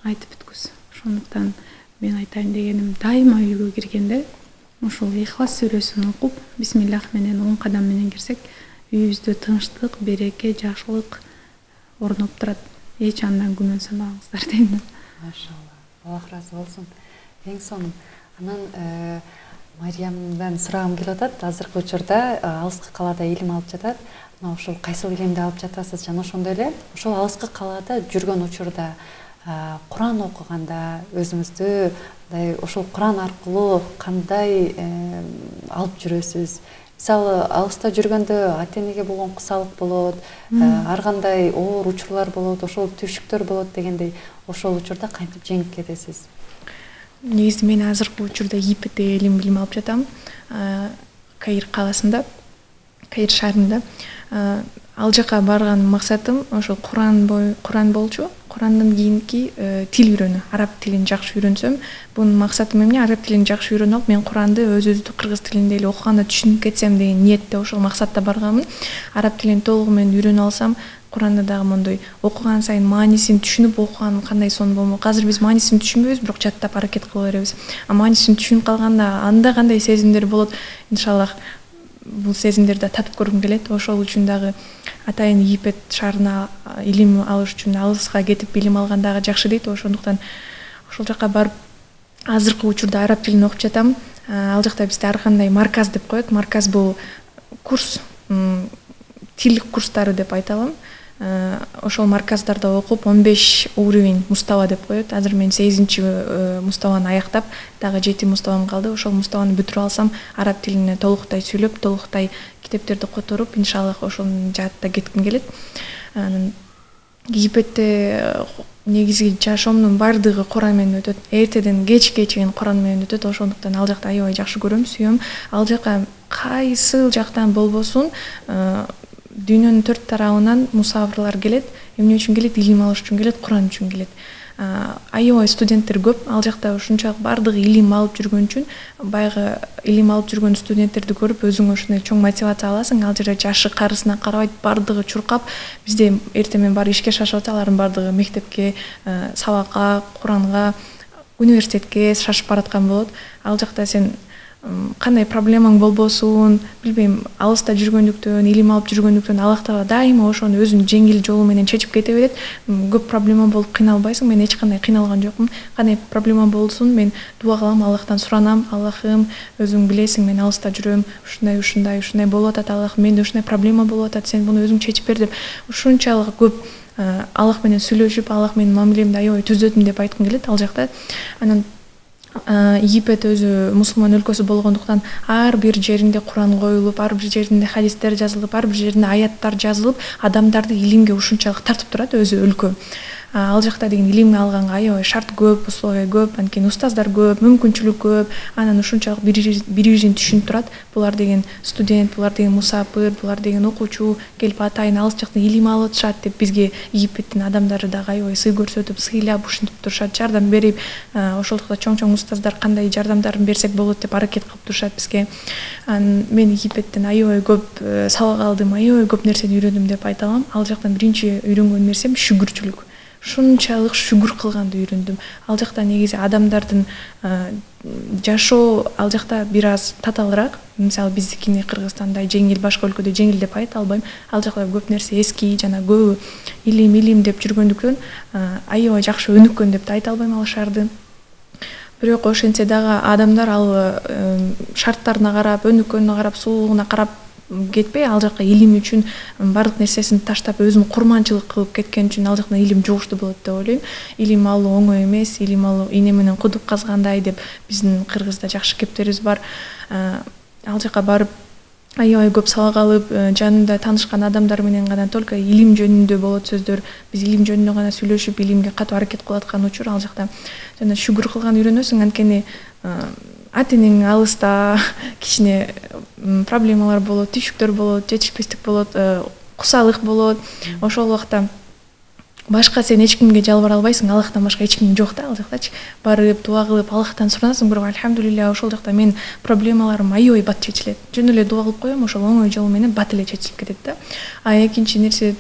айтып бүткүс. Ошондуктан мен айтайын дегеним, дайыма үйгө киргенде ошол Ихлас сүрөсүн окуп, бисмиллах менен 10 кадам менен кирсек, үйүбүздө тынчтык, береке, жакшылык орноп турат. Эч андан күмөн санабаңыздар дейм да. Машалла. Аллах разы болсун. Эң сонун. Анан Мариямдан сурагым келип атат. Азыркы учурда алыскы калаада илим алып жатат. Ошол кайсыл илимди алып жатасыз? Жана ошондой эле ошол алыскы калаада жүргөн учурда Куран окуганда өзүңүздү ошол Куран аркылуу кандай алып жүрөсүз? Мисалы, алыста жүргөндө ата-энеге болгон кусалык болот, ар кандай оор учурлар болот, ошол түшүктөр болот дегендей, ошол учурда кантип жеңип кетесиз? Негизи мен азыркы учурда Египетте илим алып жатам. Каир каласында, Каир шаарында. Ал жака барган максатым ошол Куран болчу. Курандан кийинки тил үйрөнүү, араб тилин жакшы үйрөнсөм, бунун максатым эмне? Араб тилин жакшы үйрөнүп алып, мен Куранды өзүбүздүк кыргыз тилинде эле окуганда түшүнүп кетсем деген ниетте ошол максатта барганмын. Араб тилин толугу менен үйрөнүп алсам, Куранда дагы мондой окуган сайын маанисин түшүнүп окуган кандай сонун болмок. Азыр биз маанисин түшүнбөйбүз, бирок жаттап аракет кыла беребиз. Маанисин түшүнүп калганда анда кандай сезимдер болот, иншаллах бул сезимдерди татып көргүм келет. Ошол үчүн дагы атайын Египет шаарына илим алыш үчүн алыска кетип илим алган дагы жакшы дейт. Ошондуктан ошол жака барып азыркы учурда араб тилин окуп жатам. Ал жакта бизде ар кандай марказ деп коет. Марказ бул курс, тил курстары деп айта алам. Ошол марказдарда окуп 15 уровень мустава деп коет. Азыр мен 8 муставаны аяктап, дагы 7 муставам калды. Ошол муставаны бүтүрүп алсам, араб тилине толуктай сүйлөп, толуктай китептерди которуп, иншаллах ошонун жаатта кетким келет. Египетте негизи жашоомдун баардыгы Куран менен өтөт. Эртеден кечке чейин Куран менен өтөт. Ошондуктан ал жакты аябай жакшы көрөм, сүйөм. Ал жака кайсыл жактан болбосун, дүйнөнүн 4 тарабынан мусафирлар келет. Эмне үчүн келет? Илим алыш үчүн келет, Куран үчүн келет. Аябай студенттер көп. Ал жакта ушунчалык баардыгы илим алып жүргөн үчүн, баягы илим алып жүргөн студенттерди көрүп, өзүң ушундай чоң мотивация аласың. Ал жерде жашы карысына карабайт, баардыгы чуркап, бизде эртең баары ишке шашып атат, алардын баардыгы мектепке, сабакка, Куранга, университетке шашып бараткан болот. Ал жакта сен кандай проблемаң болбосун, билбейм, алыста жүргөндүктөн, илим алып жүргөндүктөн Аллах Таала дайыма ошону өзүнүн жеңил жолу менен чечип кете берет. Көп проблема болуп кыйналбайсың. Мен эч кандай кыйналган жокмун. Кандай проблема болсун, мен дуа кылам, Аллахтан суранам. Аллахым, өзүң билесиң, мен алыста жүрөм, ушундай болуп атат, Аллах, менде ушундай проблема болуп атат, сен буну өзүң чечип бер деп ушунчалык көп Аллах менен сүйлөшүп, Аллах менин мамилемди аябай түзөтүм деп айткым келет ал жакта. Анан Египет өзү мусулман өлкөсү болгондуктан ар бир жеринде Куран коюлуп, ар бир жеринде хадистер жазылып, ар бир жеринде аяттар жазылып, адамдарды илимге ушунчалык тартып турат өзү өлкө. Ал жакта деген илимге алганга аябай шарт көп, условия көп, анткени устаздар көп, мүмкүнчүлүк көп, анан ушунчалык бири-бирин түшүнүп турат. Булар деген студент, булар деген мусафир, булар деген окуучу келип атайын алыс жактан илим алып атышат деп бизге Египеттин адамдары дагы аябай сый көрсөтүп, сыйлап ушинтип турушат, жардам берип, ошолдукта чоң устаздар кандай жардамдарын берсек болот деп аракет кылып турушат бизге. Мен Египеттен аябай көп сабак алдым, аябай көп нерсени үйрөндүм деп айта алам. Ал жактан биринчи үйрөнгөн нерсем шүгүрчүлүк. Ушунчалык шүгүр кылганды үйрөндүм. Ал жакта негизи адамдардын жашоо ал жакта бир аз татаалыраак. Мисалы биздикине Кыргызстандай жеңил, башка өлкөдө жеңил деп айта албайм. Ал жакта көп нерсе эски жана көбү илим деп жүргөндүктөн аябай жакшы өнүккөн деп айта албайм ал шаарды. Бирок ошентсе дагы адамдар ал шарттарына карап, өнүккөнүнө карап, сулуулугуна карап кетпей, ал жакка илим үчүн бардык нерсесин таштап, өзүн курманчылык кылып кеткен үчүн ал жактан илим жугуштуу болот деп ойлойм. Илим алуу оңой эмес, илим алуу ийне менен кудук казгандай деп биздин Кыргызда жакшы кептерибиз бар. Ал жакка барып аябай көп сабак алып, жанында таанышкан адамдар менен гана только илим жөнүндө болот сөздөр. Биз илим жөнүндө гана сүйлөшүп, илимге катуу аракет кылып аткан учур ал жакта жана шүгүр кылган үйрөнөсүң, анткени ата-энең алыста, кичине проблемалар болот, түйшүктөр болот, жетишпестик болот, кусалык болот. Ошол убакта башка сен эч кимге жалбара албайсың, Аллахтан башка эч ким жок да ал жактачы. Барып дуа кылып Аллахтан суранасың, бирок альхамдулилля ошол жакта мен проблемаларым аябай бат чечилет. Жөн эле дуа кылып коем, ошол оңой жол менен бат эле чечилип кетет да. Экинчи нерсе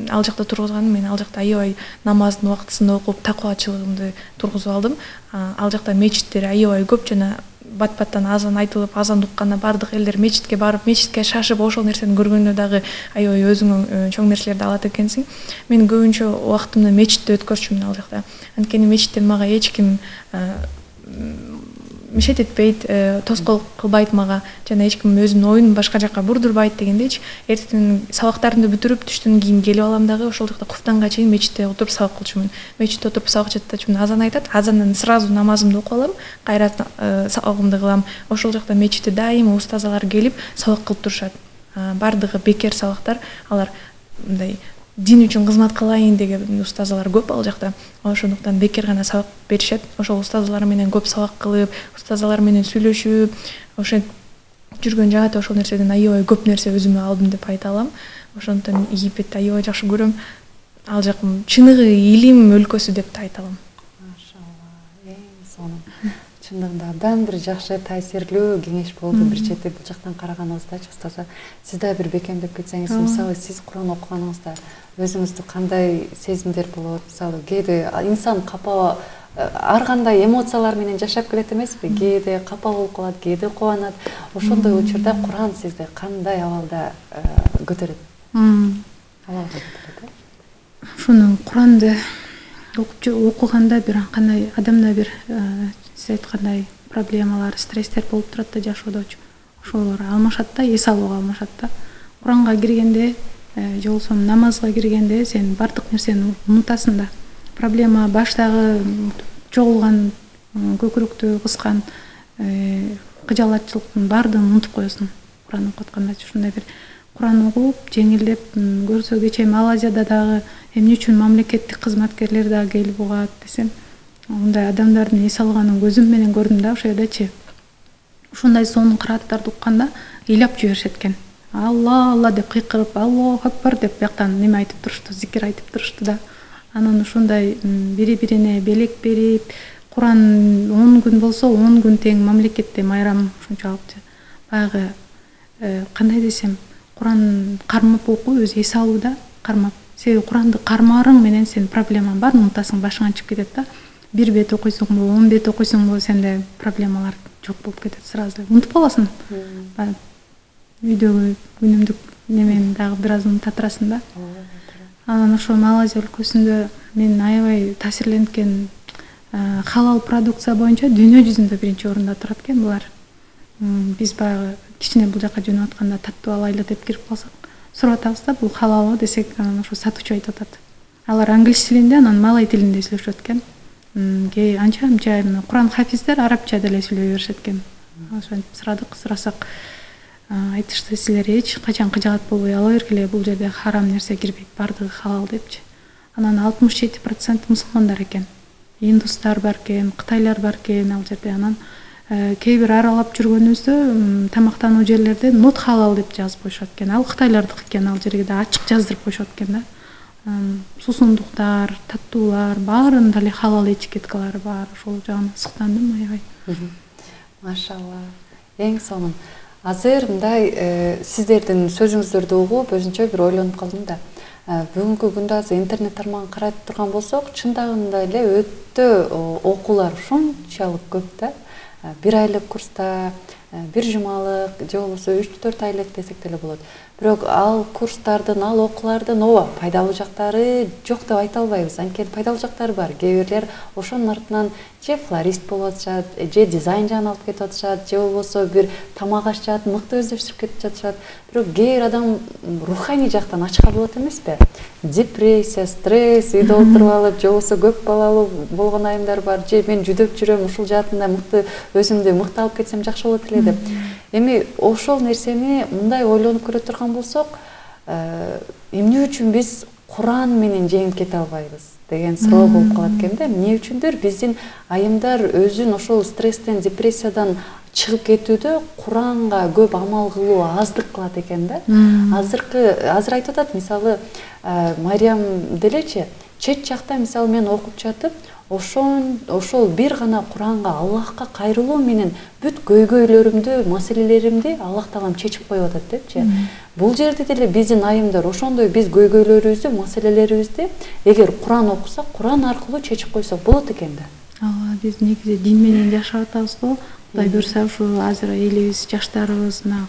ал жакта тургузганым, мен ал жакта аябай намаздын убактысында окуп, такыбачылыгымды тургузуп алдым. Ал жакта мечиттер аябай көп жана бат-баттан азан айтылып, азан укканда бардык элдер мечитке барып, мечитке шашып, ошол нерсени көргөндө дагы аябай өзүңө чоң нерселерди алат экенсиң. Мен көбүнчө убактымды мечитте өткөрчүмүн ал жакта. Анткени мечиттен мага эч ким мешет этпейт, тоскоол кылбайт мага, жана эч ким өзүнүн оюн башка жака бурдурбайт дегендейчи. Эртең сабактарымды бүтүрүп, түштөн кийин келип алам дагы ошол жакта куфтанга чейин мечитте отуруп сабак кылчумун. Мечитте отуруп сабак чатачумун, азан айтат, азандан сразу намазымды окуп алам, кайра сабагымды кылам. Ошол жакта мечитте дайыма устазалар келип сабак кылып турушат. Бардыгы бекер сабактар, алар мындай дин үчүн кызмат кылайын деген устазалар көп ал жакта. Ошондуктан бекер гана сабак беришет. Ошол устазалар менен көп сабак кылып, устазалар менен сүйлөшүп, ошентип жүргөн жагат ошол нерседен аябай көп нерсе өзүмө алдым деп айта алам. Ошондуктан Египетти аябай жакшы көрөм. Ал жак чыныгы илим өлкөсү деп да айта алам. Машалла, сонун. Чындыгында абдан бир жакшы таасирлүү кеңеш болду. Бир чети бул жактан караганыңызда устаза, сиз да бир бекемдеп кетсеңиз, мисалы сиз Куран окуганыңызда өзүңүздө кандай сезимдер болот? Мисалы кээде инсан капа, ар кандай эмоциялар менен жашап келет эмеспи? Кээде капа болуп калат, кээде кубанат. Ошондой учурда Куран сизди кандай абалда көтөрөт? Абалда көтөрөт. Ушуну Куранды окуганда бир кандай адамда бир сиз айткандай проблемалар, стресстер болуп турат да жашоодочу. Ошолор алмашат да, эс алууга алмашат да. Куранга киргенде, же болбосо намазга киргенде сен бардык нерсени унутасың да. Проблема баштагы чогулган, көкүрөктү кыскан кыжалатчылыктын баардыгын унутуп коесуң. Куран окуп атканда ушундай бир Куран окуп, жеңилдеп көрсө кечээ Малайзияда дагы эмне үчүн мамлекеттик кызматкерлер дагы келип угат десем, мындай адамдардын эс алганын көзүм менен көрдүм да, ошо жердечи. Ушундай сонун кырааттарды укканда ыйлап жиберишет экен. Алла, Алла деп кыйкырып, Аллаху акбар деп бияктан неме айтып турушту, зикир айтып турушту да. Анан ушундай бири-бирине белек берип, Куран 10 күн болсо 10 күн тең мамлекетте майрам ушунчалык баягы кандай десем, Куран кармап окуу, өзү эс алууда кармап. Себеби Куранды кармаарың менен сен проблемаң баарын унутасың, башыңан чыгып кетет да. 1 бет окуйсуңбу, 10 бет окуйсуңбу, сенде проблемалар жок болуп кетет сразу. Унутуп каласың. Үйдөгү күнүмдүк немени дагы бир аз унута турасың да. Анан ошо Малайзия өлкөсүндө мен аябай таасирленген халал продукция боюнча дүйнө жүзүндө биринчи орунда турат экен булар. Биз баягы кичине бул жака жөнөп атканда таттуу алайлы деп кирип калсак, сурап атабыз да, бул халалбы десек, анан ошо сатуучу айтып атат. Алар англис тилинде, анан малай тилинде сүйлөшөт экен. Анча-мынча Куран хафиздер арабча деле сүйлөй беришет экен. Ошентип сурасак, айтышты, силер эч качан кыжаат болбой ала бергиле, бул жерде харам нерсе кирбейт, бардыгы халал депчи. Анан 67% мусулмандар экен. Индустар бар экен, кытайлар бар экен ал жерде. Анан кээ бир аралап жүргөнүбүздө тамактануу жерлерде not халал деп жазып коюшат экен. Ал кытайлардык экен, ал жерге да ачык жаздырып коюшат экен да. Сусундуктар, таттуулар, баарын деле халал этикеткалары бар. Ошол жагына сыктандым аябай. Машалла. Эң сонун. Азыр мындай сиздердин сөзүңүздөрдү угуп өзүнчө бир ойлонуп калдым да. Бүгүнкү күндө азыр интернет тармагын карап турган болсок, чындыгында эле өтө окуулар ушунчалык көп да. 1 айлык курста, 1 жумалык, же болбосо 3-4 айлык десек деле болот. Бирок ал курстардын, ал окуулардын ооба пайдалуу жактары жок деп айта албайбыз. Анткени пайдалуу жактары бар. Кээ бирлер ошонун артынан же флорист болуп атышат, же дизайн жагын алып кетип атышат, же болбосо бир тамак ашчат, мыкты өздөштүрүп кетип жатышат. Бирок кээ бир адам руханий жактан ачка болот эмеспи? Депрессия, стресс, үйдө отуруп алып, же болбосо көп балалуу болгон айымдар бар, же мен жүдөп жүрөм, ушул жаатында мыкты өзүмдү мыкты алып кетсем жакшы болот эле деп. Эми ошол нерсени мындай ойлонуп көрө турган болсок, эмне үчүн биз Куран менен жеңип кете албайбыз деген суроо болуп калат экен да. Эмне үчүндүр биздин айымдар өзүн ошол стресстен, депрессиядан чыгып кетүүдө Куранга көп амал кылуу аздык кылат экен да. Азыр айтып атат, мисалы Мариям делечи, чет жакта мисалы мен окуп жатып, ошол бир гана Куранга, Аллахка кайрылуу менен бүт көйгөйлөрүмдү, маселелеримди Аллах таалам чечип коюп атат депчи. Бул жерде деле биздин айымдар ошондой биз көйгөйлөрүбүздү, маселелерибизди эгер Куран окусак, Куран аркылуу чечип койсок болот экен да. Ооба, биз негизи дин менен жашап атабыз го. Кудай буйрса ушу азыр элибиз, жаштарыбыз мына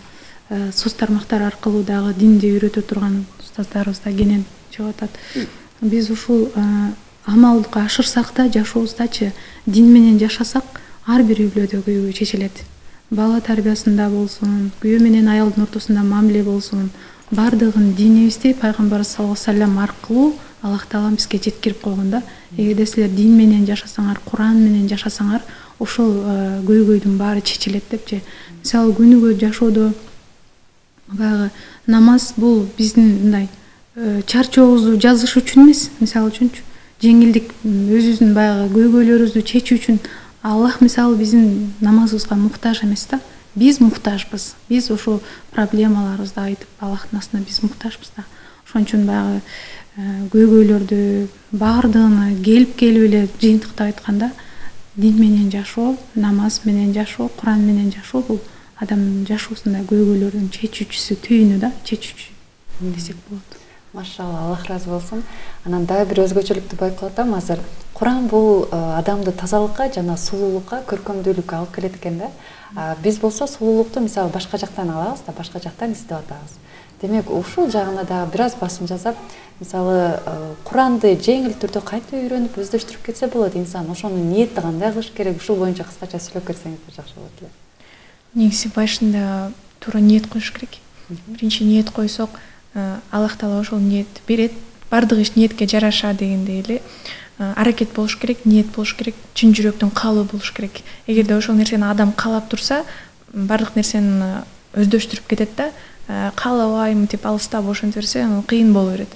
соц тармактар аркылуу дагы динди үйрөтө турган устаздарыбыз да кенен чыгып атат. Биз ушул амалдыкка ашырсак да, жашообуздачы дин менен жашасак, ар бир үйлөрдө көйгөй чечилет. Бала тарбиясында болсун, күйөө менен аялдын ортосунда мамиле болсун, бардыгын динибизди пайгамбар саллаллаху алейхи вассалам аркылуу Аллах таалам бизге жеткирип койгон да. Эгерде силер дин менен жашасаңар, Куран менен жашасаңар, ошол көйгөйдүн баары чечилет депчи. Мисалы күнүгө жашоодо баягы намаз бул биздин мындай чарчообузду жазыш үчүн эмес, мисалы үчүнчү жеңилдик, өзүбүздүн баягы көйгөйлөрүбүздү чечүү үчүн. Аллах мисалы биздин намазыбызга муктаж эмес да. Биз муктажбыз. Биз ошол проблемаларыбызды айтып, Аллахтын астына биз муктажбыз да. Ошон үчүн баягы көйгөйлөрдү баардыгына келип эле жыйынтыктап айтканда, дин менен жашоо, намаз менен жашоо, Куран менен жашоо бул адамдын жашоосунда көйгөйлөрдүн чечүүчүсү, түйүнү да, чечүүчү десек болот. Машалла, Аллах разы болсун. Анан дагы бир өзгөчөлүктү байкап атам азыр. Куран бул адамды тазалыкка жана сулуулукка, көркөмдүүлүккө алып келет экен да. Биз болсо сулуулукту мисалы башка жактан алабыз да, башка жактан издеп атабыз. Демек, ушул жагына дагы бир аз басым жасап, мисалы Куранды жеңил түрдө кантип үйрөнүп өздөштүрүп кетсе болот инсан, ошону ниетти кандай кылыш керек, ушул боюнча кыскача сүйлөп кетсеңиздер жакшы болот эле. Негизи башында туура ниет коюш керек. Биринчи ниет койсок, Аллах таала ошол ниет берет. Бардык иш ниетке жараша дегендей эле аракет болуш керек, ниет болуш керек, чын жүрөктөн каалоо болуш керек. Эгерде ошол нерсени адам каалап турса, бардык нерсени өздөштүрүп кетет да. Каалабайм деп алыстап ошентип берсе, кыйын боло берет.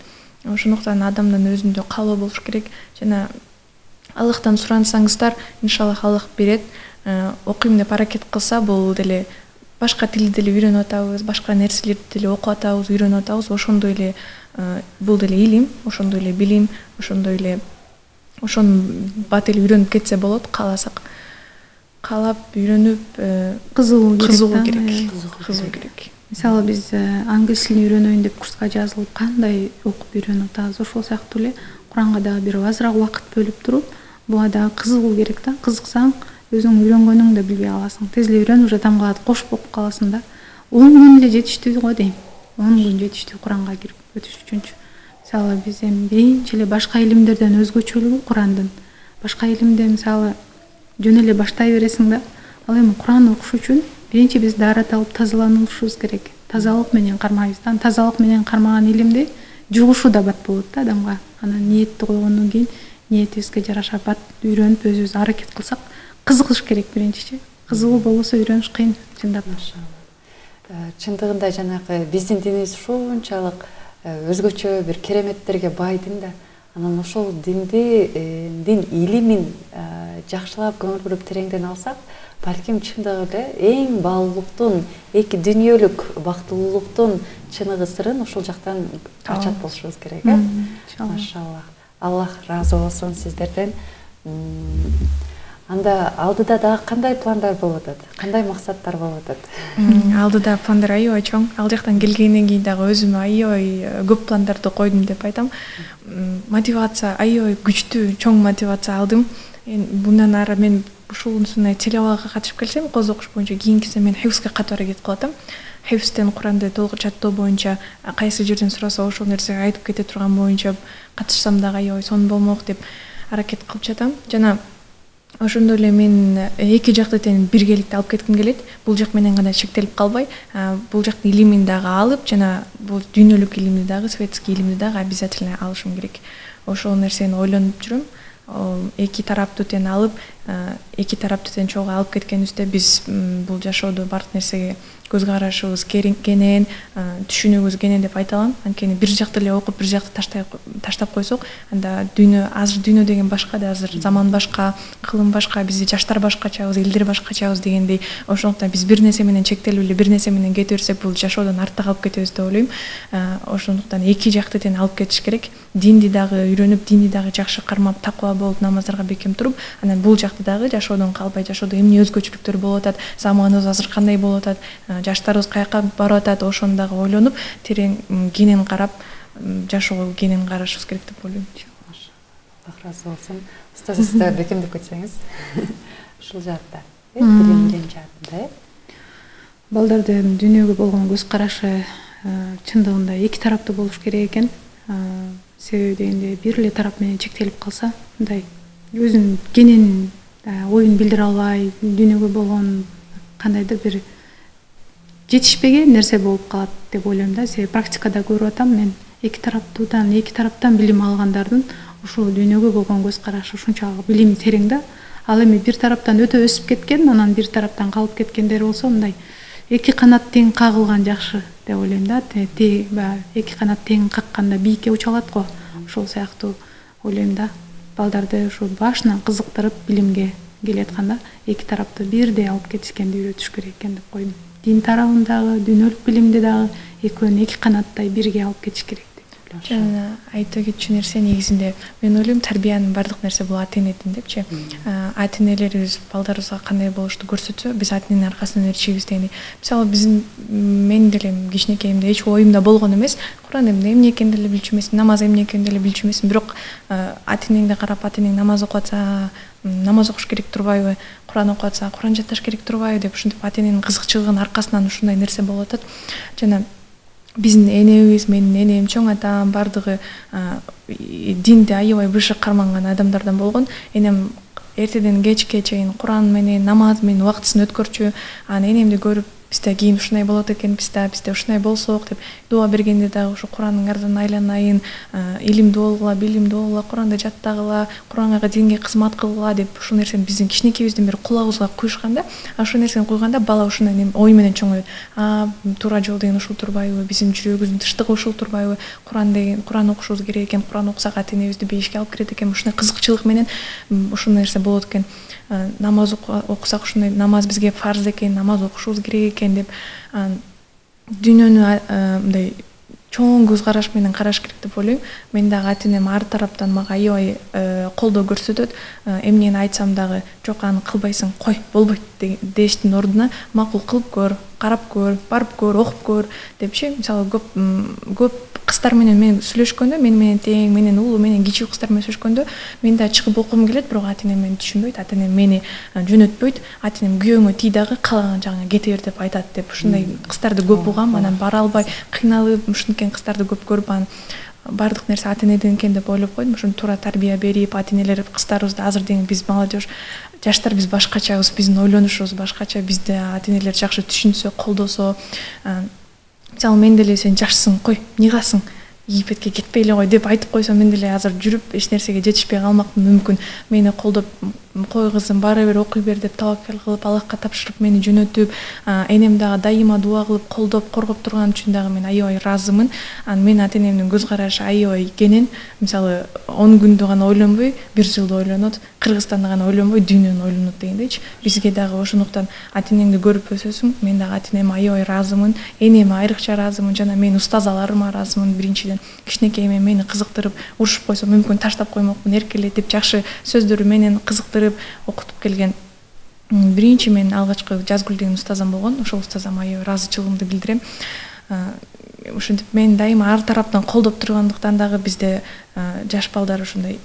Ошондуктан адамдын өзүндө каалоо болуш керек жана Аллахтан сурансаңыздар, иншаллах Аллах берет. Окуйм деп аракет кылса, бул деле башка тилди деле үйрөнүп атабыз, башка нерселерди деле окуп атабыз, үйрөнүп атабыз. Ошондой эле бул деле илим, ошондой эле билим, ошондой эле ошонун бат эле үйрөнүп кетсе болот, кааласак. Каалап үйрөнүп кызыгуу керек. Мисалы биз англис тилин үйрөнөйүн деп курска жазылып, кандай окуп үйрөнүп атабыз, ошол сыяктуу эле Куранга дагы бир азыраак убакыт бөлүп туруп, буга дагы кызыгуу керек да. Кызыксаң, өзүң үйрөнгөнүңдү билбей каласың. Тез эле үйрөнүп уже тамгалат кошуп окуп каласың да. 10 күн эле жетиштүү го дейм. 10 күн жетиштүү Куранга кирип өтүш үчүнчү. Мисалы биз эми биринчи эле башка илимдерден өзгөчөлүгү Курандын. Башка илимде мисалы жөн эле баштай бересиң да. Ал эми Куран окуш үчүн биринчи биз даарат алып тазаланышыбыз керек. Тазалык менен кармайбыз. Тазалык менен кармаган илимди жугушу да бат болот да адамга. Анан ниетти койгондон кийин ниетибизге жараша бат үйрөнүп өзүбүз аракет кылсак, кызыгыш керек биринчичи. Кызыгуу болбосо үйрөнүш кыйын, чындап. Чындыгында жанагы биздин динибиз ушунчалык өзгөчө бир кереметтерге бай дин да. Анан ошол динди, дин илимин жакшылап көңүл буруп тереңден алсак, балким чындыгы эле эң баалуулуктун, эки дүйнөлүк бактылуулуктун чыныгы сырын ошол жактан ачат болушубуз керек, э? Машалла. Аллах разы болсун сиздерден. Анда алдыда дагы кандай пландар болуп атат? Кандай максаттар болуп атат? Алдыда пландар аябай чоң. Ал жактан келгенден кийин дагы өзүмө аябай көп пландарды койдум деп айтам. Мотивация аябай күчтүү, чоң мотивация алдым. Bundan ары мен ушунусуна телевага катышып келсем, коз окуш боюнча кийинкисе мен хифзге катары кетип калатам. Хифзден Куранды толук жаттоо боюнча кайсы жерден сураса ошол нерсеге айтып кете турган боюнча катышсам дагы аябай сонун болмок деп аракет кылып жатам. Жана ошондой эле мен эки жакты тең биргеликте алып кетким келет. Бул жак менен гана чектелип калбай, бул жактын илимин дагы алып, жана бул дүйнөлүк илимди дагы, светский илимди дагы обязательно алышым керек. Ошол нерсени ойлонуп жүрөм. эки тараптуу тең алып, эки тараптуу тең чогуу алып кеткенибизде биз бул жашоодо бардык нерсеге көз карашыбыз кенен, түшүнүүбүз кенен деп айта алам. Анткени бир жакты эле окуп, бир жакты таштап койсок, анда азыр дүйнө деген башка да, азыр заман башка, кылым башка, бизди жаштар башкачабыз, элдер башкачабыз дегендей. Ошондуктан биз бир нерсе менен чектелип эле бир нерсе менен кете берсек, бул жашоодон артта калып кетебиз деп ойлойм. Ошондуктан эки жакты тең алып кетиш керек. Динди дагы үйрөнүп, динди дагы жакшы кармап, такыба болуп, намаздарга бекем туруп, анан бул жакты дагы жашоодон калбай, жашоодо эмне өзгөчөлүктөр болуп атат, заманыбыз азыр кандай болуп атат, жаштарыбыз каяка барып атат, ошону дагы ойлонуп, терең кенен карап, жашоого кенен карашыбыз керек деп ойлойм. Аллах разы болсун. Устаз, сиз да бекемдеп кетсеңиз. Ушул жаатта, билимдин жаатында, балдарды дүйнөгө болгон көз карашы чындыгында эки тараптуу болуш керек экен. Себеби дегенде бир эле тарап менен чектелип калса, мындай өзүнүн кенен оюн билдире албай, дүйнөгө болгон кандайдыр бир жетишпеген нерсе болуп калат деп ойлойм да. Себеби практикада көрүп атам, мен эки тараптан билим алгандардын ушул дүйнөгө болгон көз карашы ушунчалык билими терең да. Ал эми бир тараптан өтө өсүп кеткен, анан бир тараптан калып кеткендер болсо, мындай эки канат тең кагылган жакшы деп ойлойм да. Эки канат тең какканда бийикке уча алат го. Ошол сыяктуу ойлойм да. Балдарды ушу башынан кызыктырып билимге келатканда эки тараптуу бирдей алып кетишкенди үйрөтүш керек экен деп койдум. Дин тарабындагы, дүйнөлүк билимди дагы экөөнү эки канаттай бирге алып кетиш керек. Жана айта кетчү нерсе негизинде мен ойлойм тарбиянын бардык нерсе бул ата энеден депчи. Ата энелерибиз балдарыбызга кандай болушту көрсөтсө, биз ата эненин аркасынан эришебиз дегендей. Мисалы мен деле кичинекейимде эч оюмда болгон эмес. Куран эмне экенин деле билчү эмесмин, намаз эмне экенин деле билчү эмесмин. Бирок ата энеңди карап, ата энең намаз окуп атса, намаз окуш керек турбайбы, Куран окуп атса, Куран жатташ керек турбайбы деп ушинтип ата эненин кызыкчылыгынын аркасынан ушундай нерсе болуп атат. Жана биздин энебиз, менин энем, чоң атам бардыгы динди аябай бышык карманган адамдардан болгон. Энем эртеден кечке чейин Куран менен, намаз менен убактысын өткөрчү. Анан энемди көрүп, бизде кийин ушундай болот экен, бизде ушундай болсок деп дуа бергенде дагы ушу Куранның ардынан айланайын, илимдүү болгула, билимдүү болгула, Куранды жаттагыла, Куранга, динге кызмат кылгыла деп ушул нерсени биздин кичинекейибизден бери кулагыбызга куйушканда, ушул нерсени куйганда бала ушундай ой менен чоңойот. Туура жол деген ушул турбайбы, биздин жүрөгүбүздүн тынчтыгы ушул турбайбы, Куран окушубуз керек экен, Куран окусак ата энебизди бейишке алып кирет экен, ушундай кызыкчылык менен ушул нерсе болот экен. Намаз окусак ушундай намаз бизге фарз экен, намаз окушубуз керек экен деп дүйнөнү мындай чоң көз караш менен караш керек деп ойлойм. Мен дагы ата энем ар тараптан мага аябай колдоо көрсөтөт. Эмнени айтсам дагы жок, аны кылбайсың, кой, болбойт дештин ордуна макул кылып көр, карап көр, барып көр, окуп көр депчи. Мисалы көп кыздар менен мен сүйлөшкөндө, мени менен тең, менен улуу, менен кичүү кыздар менен сүйлөшкөндө, мен да чыгып окугум келет, бирок ата энем мени түшүнбөйт, ата энем мени жөнөтпөйт. Ата энем күйөөңө тий дагы каалаган жагыңа кете бер деп айтат деп ушундай кыздарды көп угам. Анан бара албай кыйналып, ушинткен кыздарды көп көрүп, анан бардык нерсе ата энеден экен деп ойлоп койдум. Ошону туура тарбия берип, ата энелер кыздарыбызды азыр деген биз молодежь, жаштар биз башкачабыз, биздин ойлонушубуз башкача, бизди ата энелер жакшы түшүнсө, колдосо. Мисалы мен деле сен жашсың, кой, нигасың, Египетке кетпей эле кой деп айтып койсо, мен деле азыр жүрүп эч нерсеге жетишпей калмакмын мүмкүн. Мени колдоп, кой кызым, бара бер, окуй бер деп таваккал кылып, Аллахка тапшырып мени жөнөтүп, энем дагы дайыма дуа кылып, колдоп, коргоп турган үчүн дагы мен аябай ыраазымын. Мен ата энемдин көз карашы аябай кенен. Мисалы 10 күндү гана ойлонбой, 1 жылды ойлонот, Кыргызстанды гана ойлонбой, дүйнөнү ойлонот дегендейчи. Бизге дагы ошондуктан ата энеңди көрүп өсөсүң. Мен дагы ата энеме аябай ыраазымын, энеме айрыкча ыраазымын, жана мен устазаларыма ыраазымын. Биринчиден кичинекейиме мени кызыктырып, урушуп койсо мүмкүн таштап коймокмун, эркелетип, жакшы сөздөрү менен кызыктырып окутуп келген. Биринчи мен алгачкы Жазгүл деген устазам болгон. Ошол устазама аябай ыраазычылыгымды билдирем. Ушинтип мен дайыма ар тараптан колдоп тургандыктан дагы бизде жаш балдар ушундай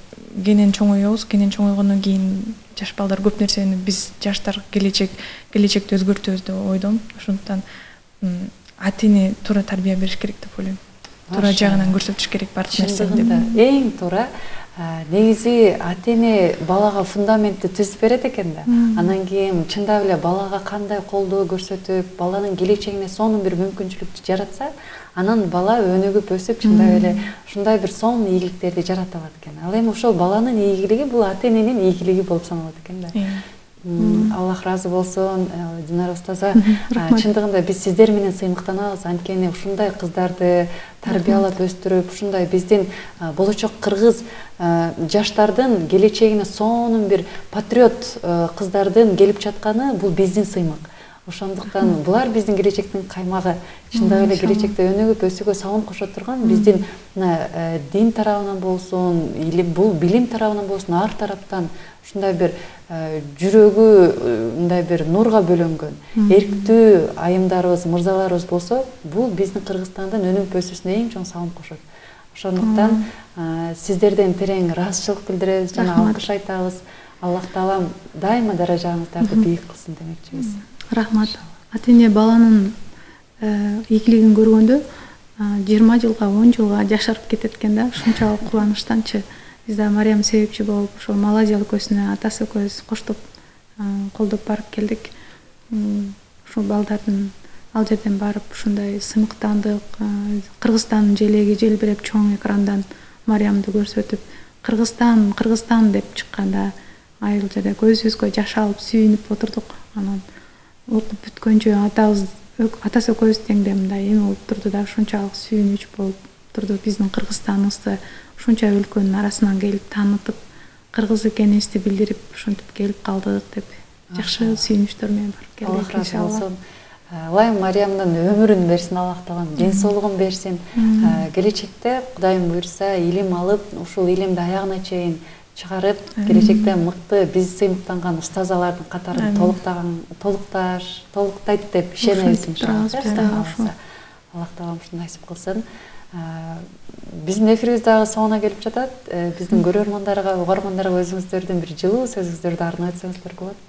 кенен чоңоебуз. Кенен чоңойгондон кийин жаш балдар көп нерсени биз жаштар келечекти өзгөртөбүз деп ойдом. Ошондуктан ата эне туура тарбия бериш керек деп ойлойм. Туура жагынан көрсөтүш керек бардык нерсени деп. Эң туура негизи ата эне балага фундаментти түзүп берет экен да. Анан кийин чындап эле балага кандай колдоо көрсөтүп, баланын келечегине сонун бир мүмкүнчүлүк жаратса, анан бала өнүгүп өсүп чындап эле ушундай бир сонун ийгиликтерди жарата алат экен. Ал эми ошол баланын ийгилиги бул ата эненин ийгилиги болуп саналат экен да. Аллах разы болсун, Динара устаза. Чындыгында биз сиздер менен сыймыктанабыз. Анткени ушундай кыздарды тарбиялап өстүрүп, ушундай биздин болочок кыргыз жаштардын келечегине сонун бир патриот кыздардын келип жатканы бул биздин сыймык. Ошондуктан булар биздин келечектин каймагы. Чындап эле келечекте өнүгүп өсүүгө сабын кошо турган биздин дин тарабынан болсун, бул билим тарабынан болсун, ар тараптан ушундай бир жүрөгү мындай бир нурга бөлөнгөн эрктүү айымдарыбыз, мырзаларыбыз болсо, бул биздин Кыргызстандын өнүгүп өсүүсүнө эң чоң сабын кошот. Ошондуктан сиздерден терең ыраазычылык билдиребиз жана алкыш айтабыз. Аллах таалам дайыма даражаңыздарды бийик кылсын демекчибиз. Рахмат. Ата эне баланын ийгилигин көргөндө 20 жылга, 10 жылга жашарып кетет экен да. Ушунчалык кубанычтанчы. Биз да Мариям себепчи болуп, ошол Малайзия өлкөсүнө атасы экөөбүз коштоп колдоп барып келдик. Ушул балдардын ал жерден барып ушундай сыймыктандык, Кыргызстандын желеги желбиреп чоң экрандан Мариямды көрсөтүп, Кыргызстан деп чыкканда айыл жерде көзүбүзгө жаш алып сүйүнүп отурдук. Анан окуп бүткөнчө атасы экөөбүз теңде мындай эме болуп турду да, ушунчалык сүйүнүч болуп турду. Биздин Кыргызстаныбызды ушунча өлкөнүн арасынан келип таанытып, кыргыз экенибизди билдирип, ушинтип келип калдык деп жакшы сүйүнүчтөр менен барып келдик. Аллах разы болсун. Лайым Мариямдын өмүрүн берсин, Аллах таалам ден соолугун берсин. Келечекте Кудайым буйрса илим алып, ушул илимди аягына чейин чыгарып, келечекте мыкты биз сыймыктанган устазалардын катарын толуктайт деп ишенебиз иншалла. Аллах таалам ушуну насип кылсын. Биздин эфирибиз дагы соңуна келип жатат. Биздин көрөрмандарга, угармандарга өзүңүздөрдүн бир жылуу сөзүңүздөрдү арнап өтсөңүздөр болот.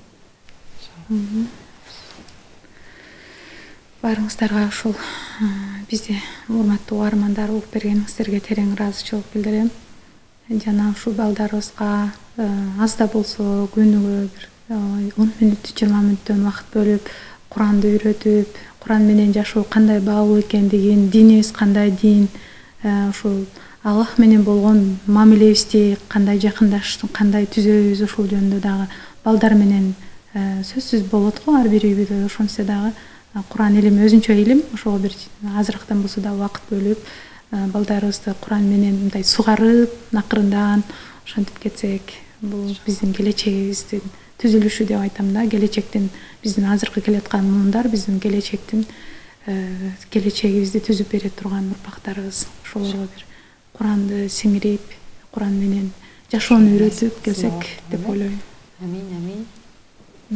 Баарыңыздарга ушул бизди урматтуу угармандар угуп бергениңиздерге терең ыраазычылык билдирем. Жана ушул балдарыбызга аз да болсо күнүгө бир 10 мүнөт, 20 мүнөттөн убакыт бөлүп, Куранды үйрөтүп, Куран менен жашоо кандай баалуу экендигин, динибиз кандай дин, ушул Аллах менен болгон мамилебизди кандай жакындаштык, кандай түзөбүз, ушул жөнүндө дагы балдар менен сөзсүз болот го ар бир үйдө. Ошончо дагы Куран илими өзүнчө илим, ошого бир азырыктан болсо да убакыт бөлүп, балдарыбызды Куран менен мындай сугарып, акырындан ошентип кетсек, бул биздин келечегибиздин түзүлүшү деп айтам да. Келечектин биздин азыркы келаткан муундар биздин келечегибизди түзүп бере турган урпактарыбыз. Ошолорго бир Куранды сиңирип, Куран менен жашоону үйрөтүп келсек деп ойлойм. Амин, амин.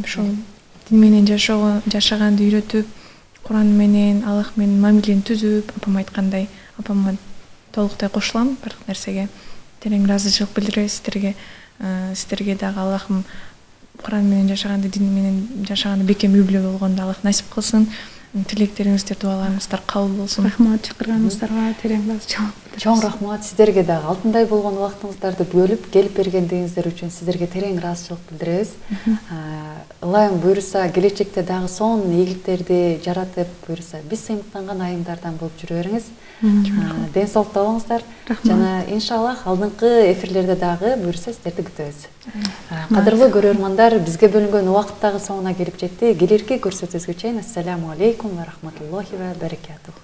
Ошол дин менен жашаганды үйрөтүп, Куран менен, Аллах менен мамилени түзүп, апам айткандай, апамга толуктай кошулам бардык нерсеге. Терең ыраазычылык билдиребиз сиздерге дагы Аллахым Куран менен жашаганды, дин менен жашаганды бекем үй бүлө болгонду Аллах насип кылсын. Тилектериңиздер, дуаларыңыздар кабыл болсун. Рахмат, чакырганыңыздарга терең ыраазычылык. Чоң рахмат, сиздерге дагы алтындай болгон убактыңыздарды бөлүп келип бергендигиңиздер үчүн сиздерге терең ыраазычылык билдиребиз. Ылайым буйрса келечекте дагы сонун ийгиликтерди жаратып буйрса биз сыймыктанган айымдардан болуп жүрө бериңиз. Ден соолукта болуңуздар. Жана иншаллах алдыңкы эфирлерде дагы буйрса сиздерди күтөбүз. Кадырлуу көрөрмандар, бизге бөлүнгөн убакыт дагы соңуна келип жетти. Келирки көрсөтүүбүзгө чейин ассаламу алейкум ва рахматуллахи ва баракатух.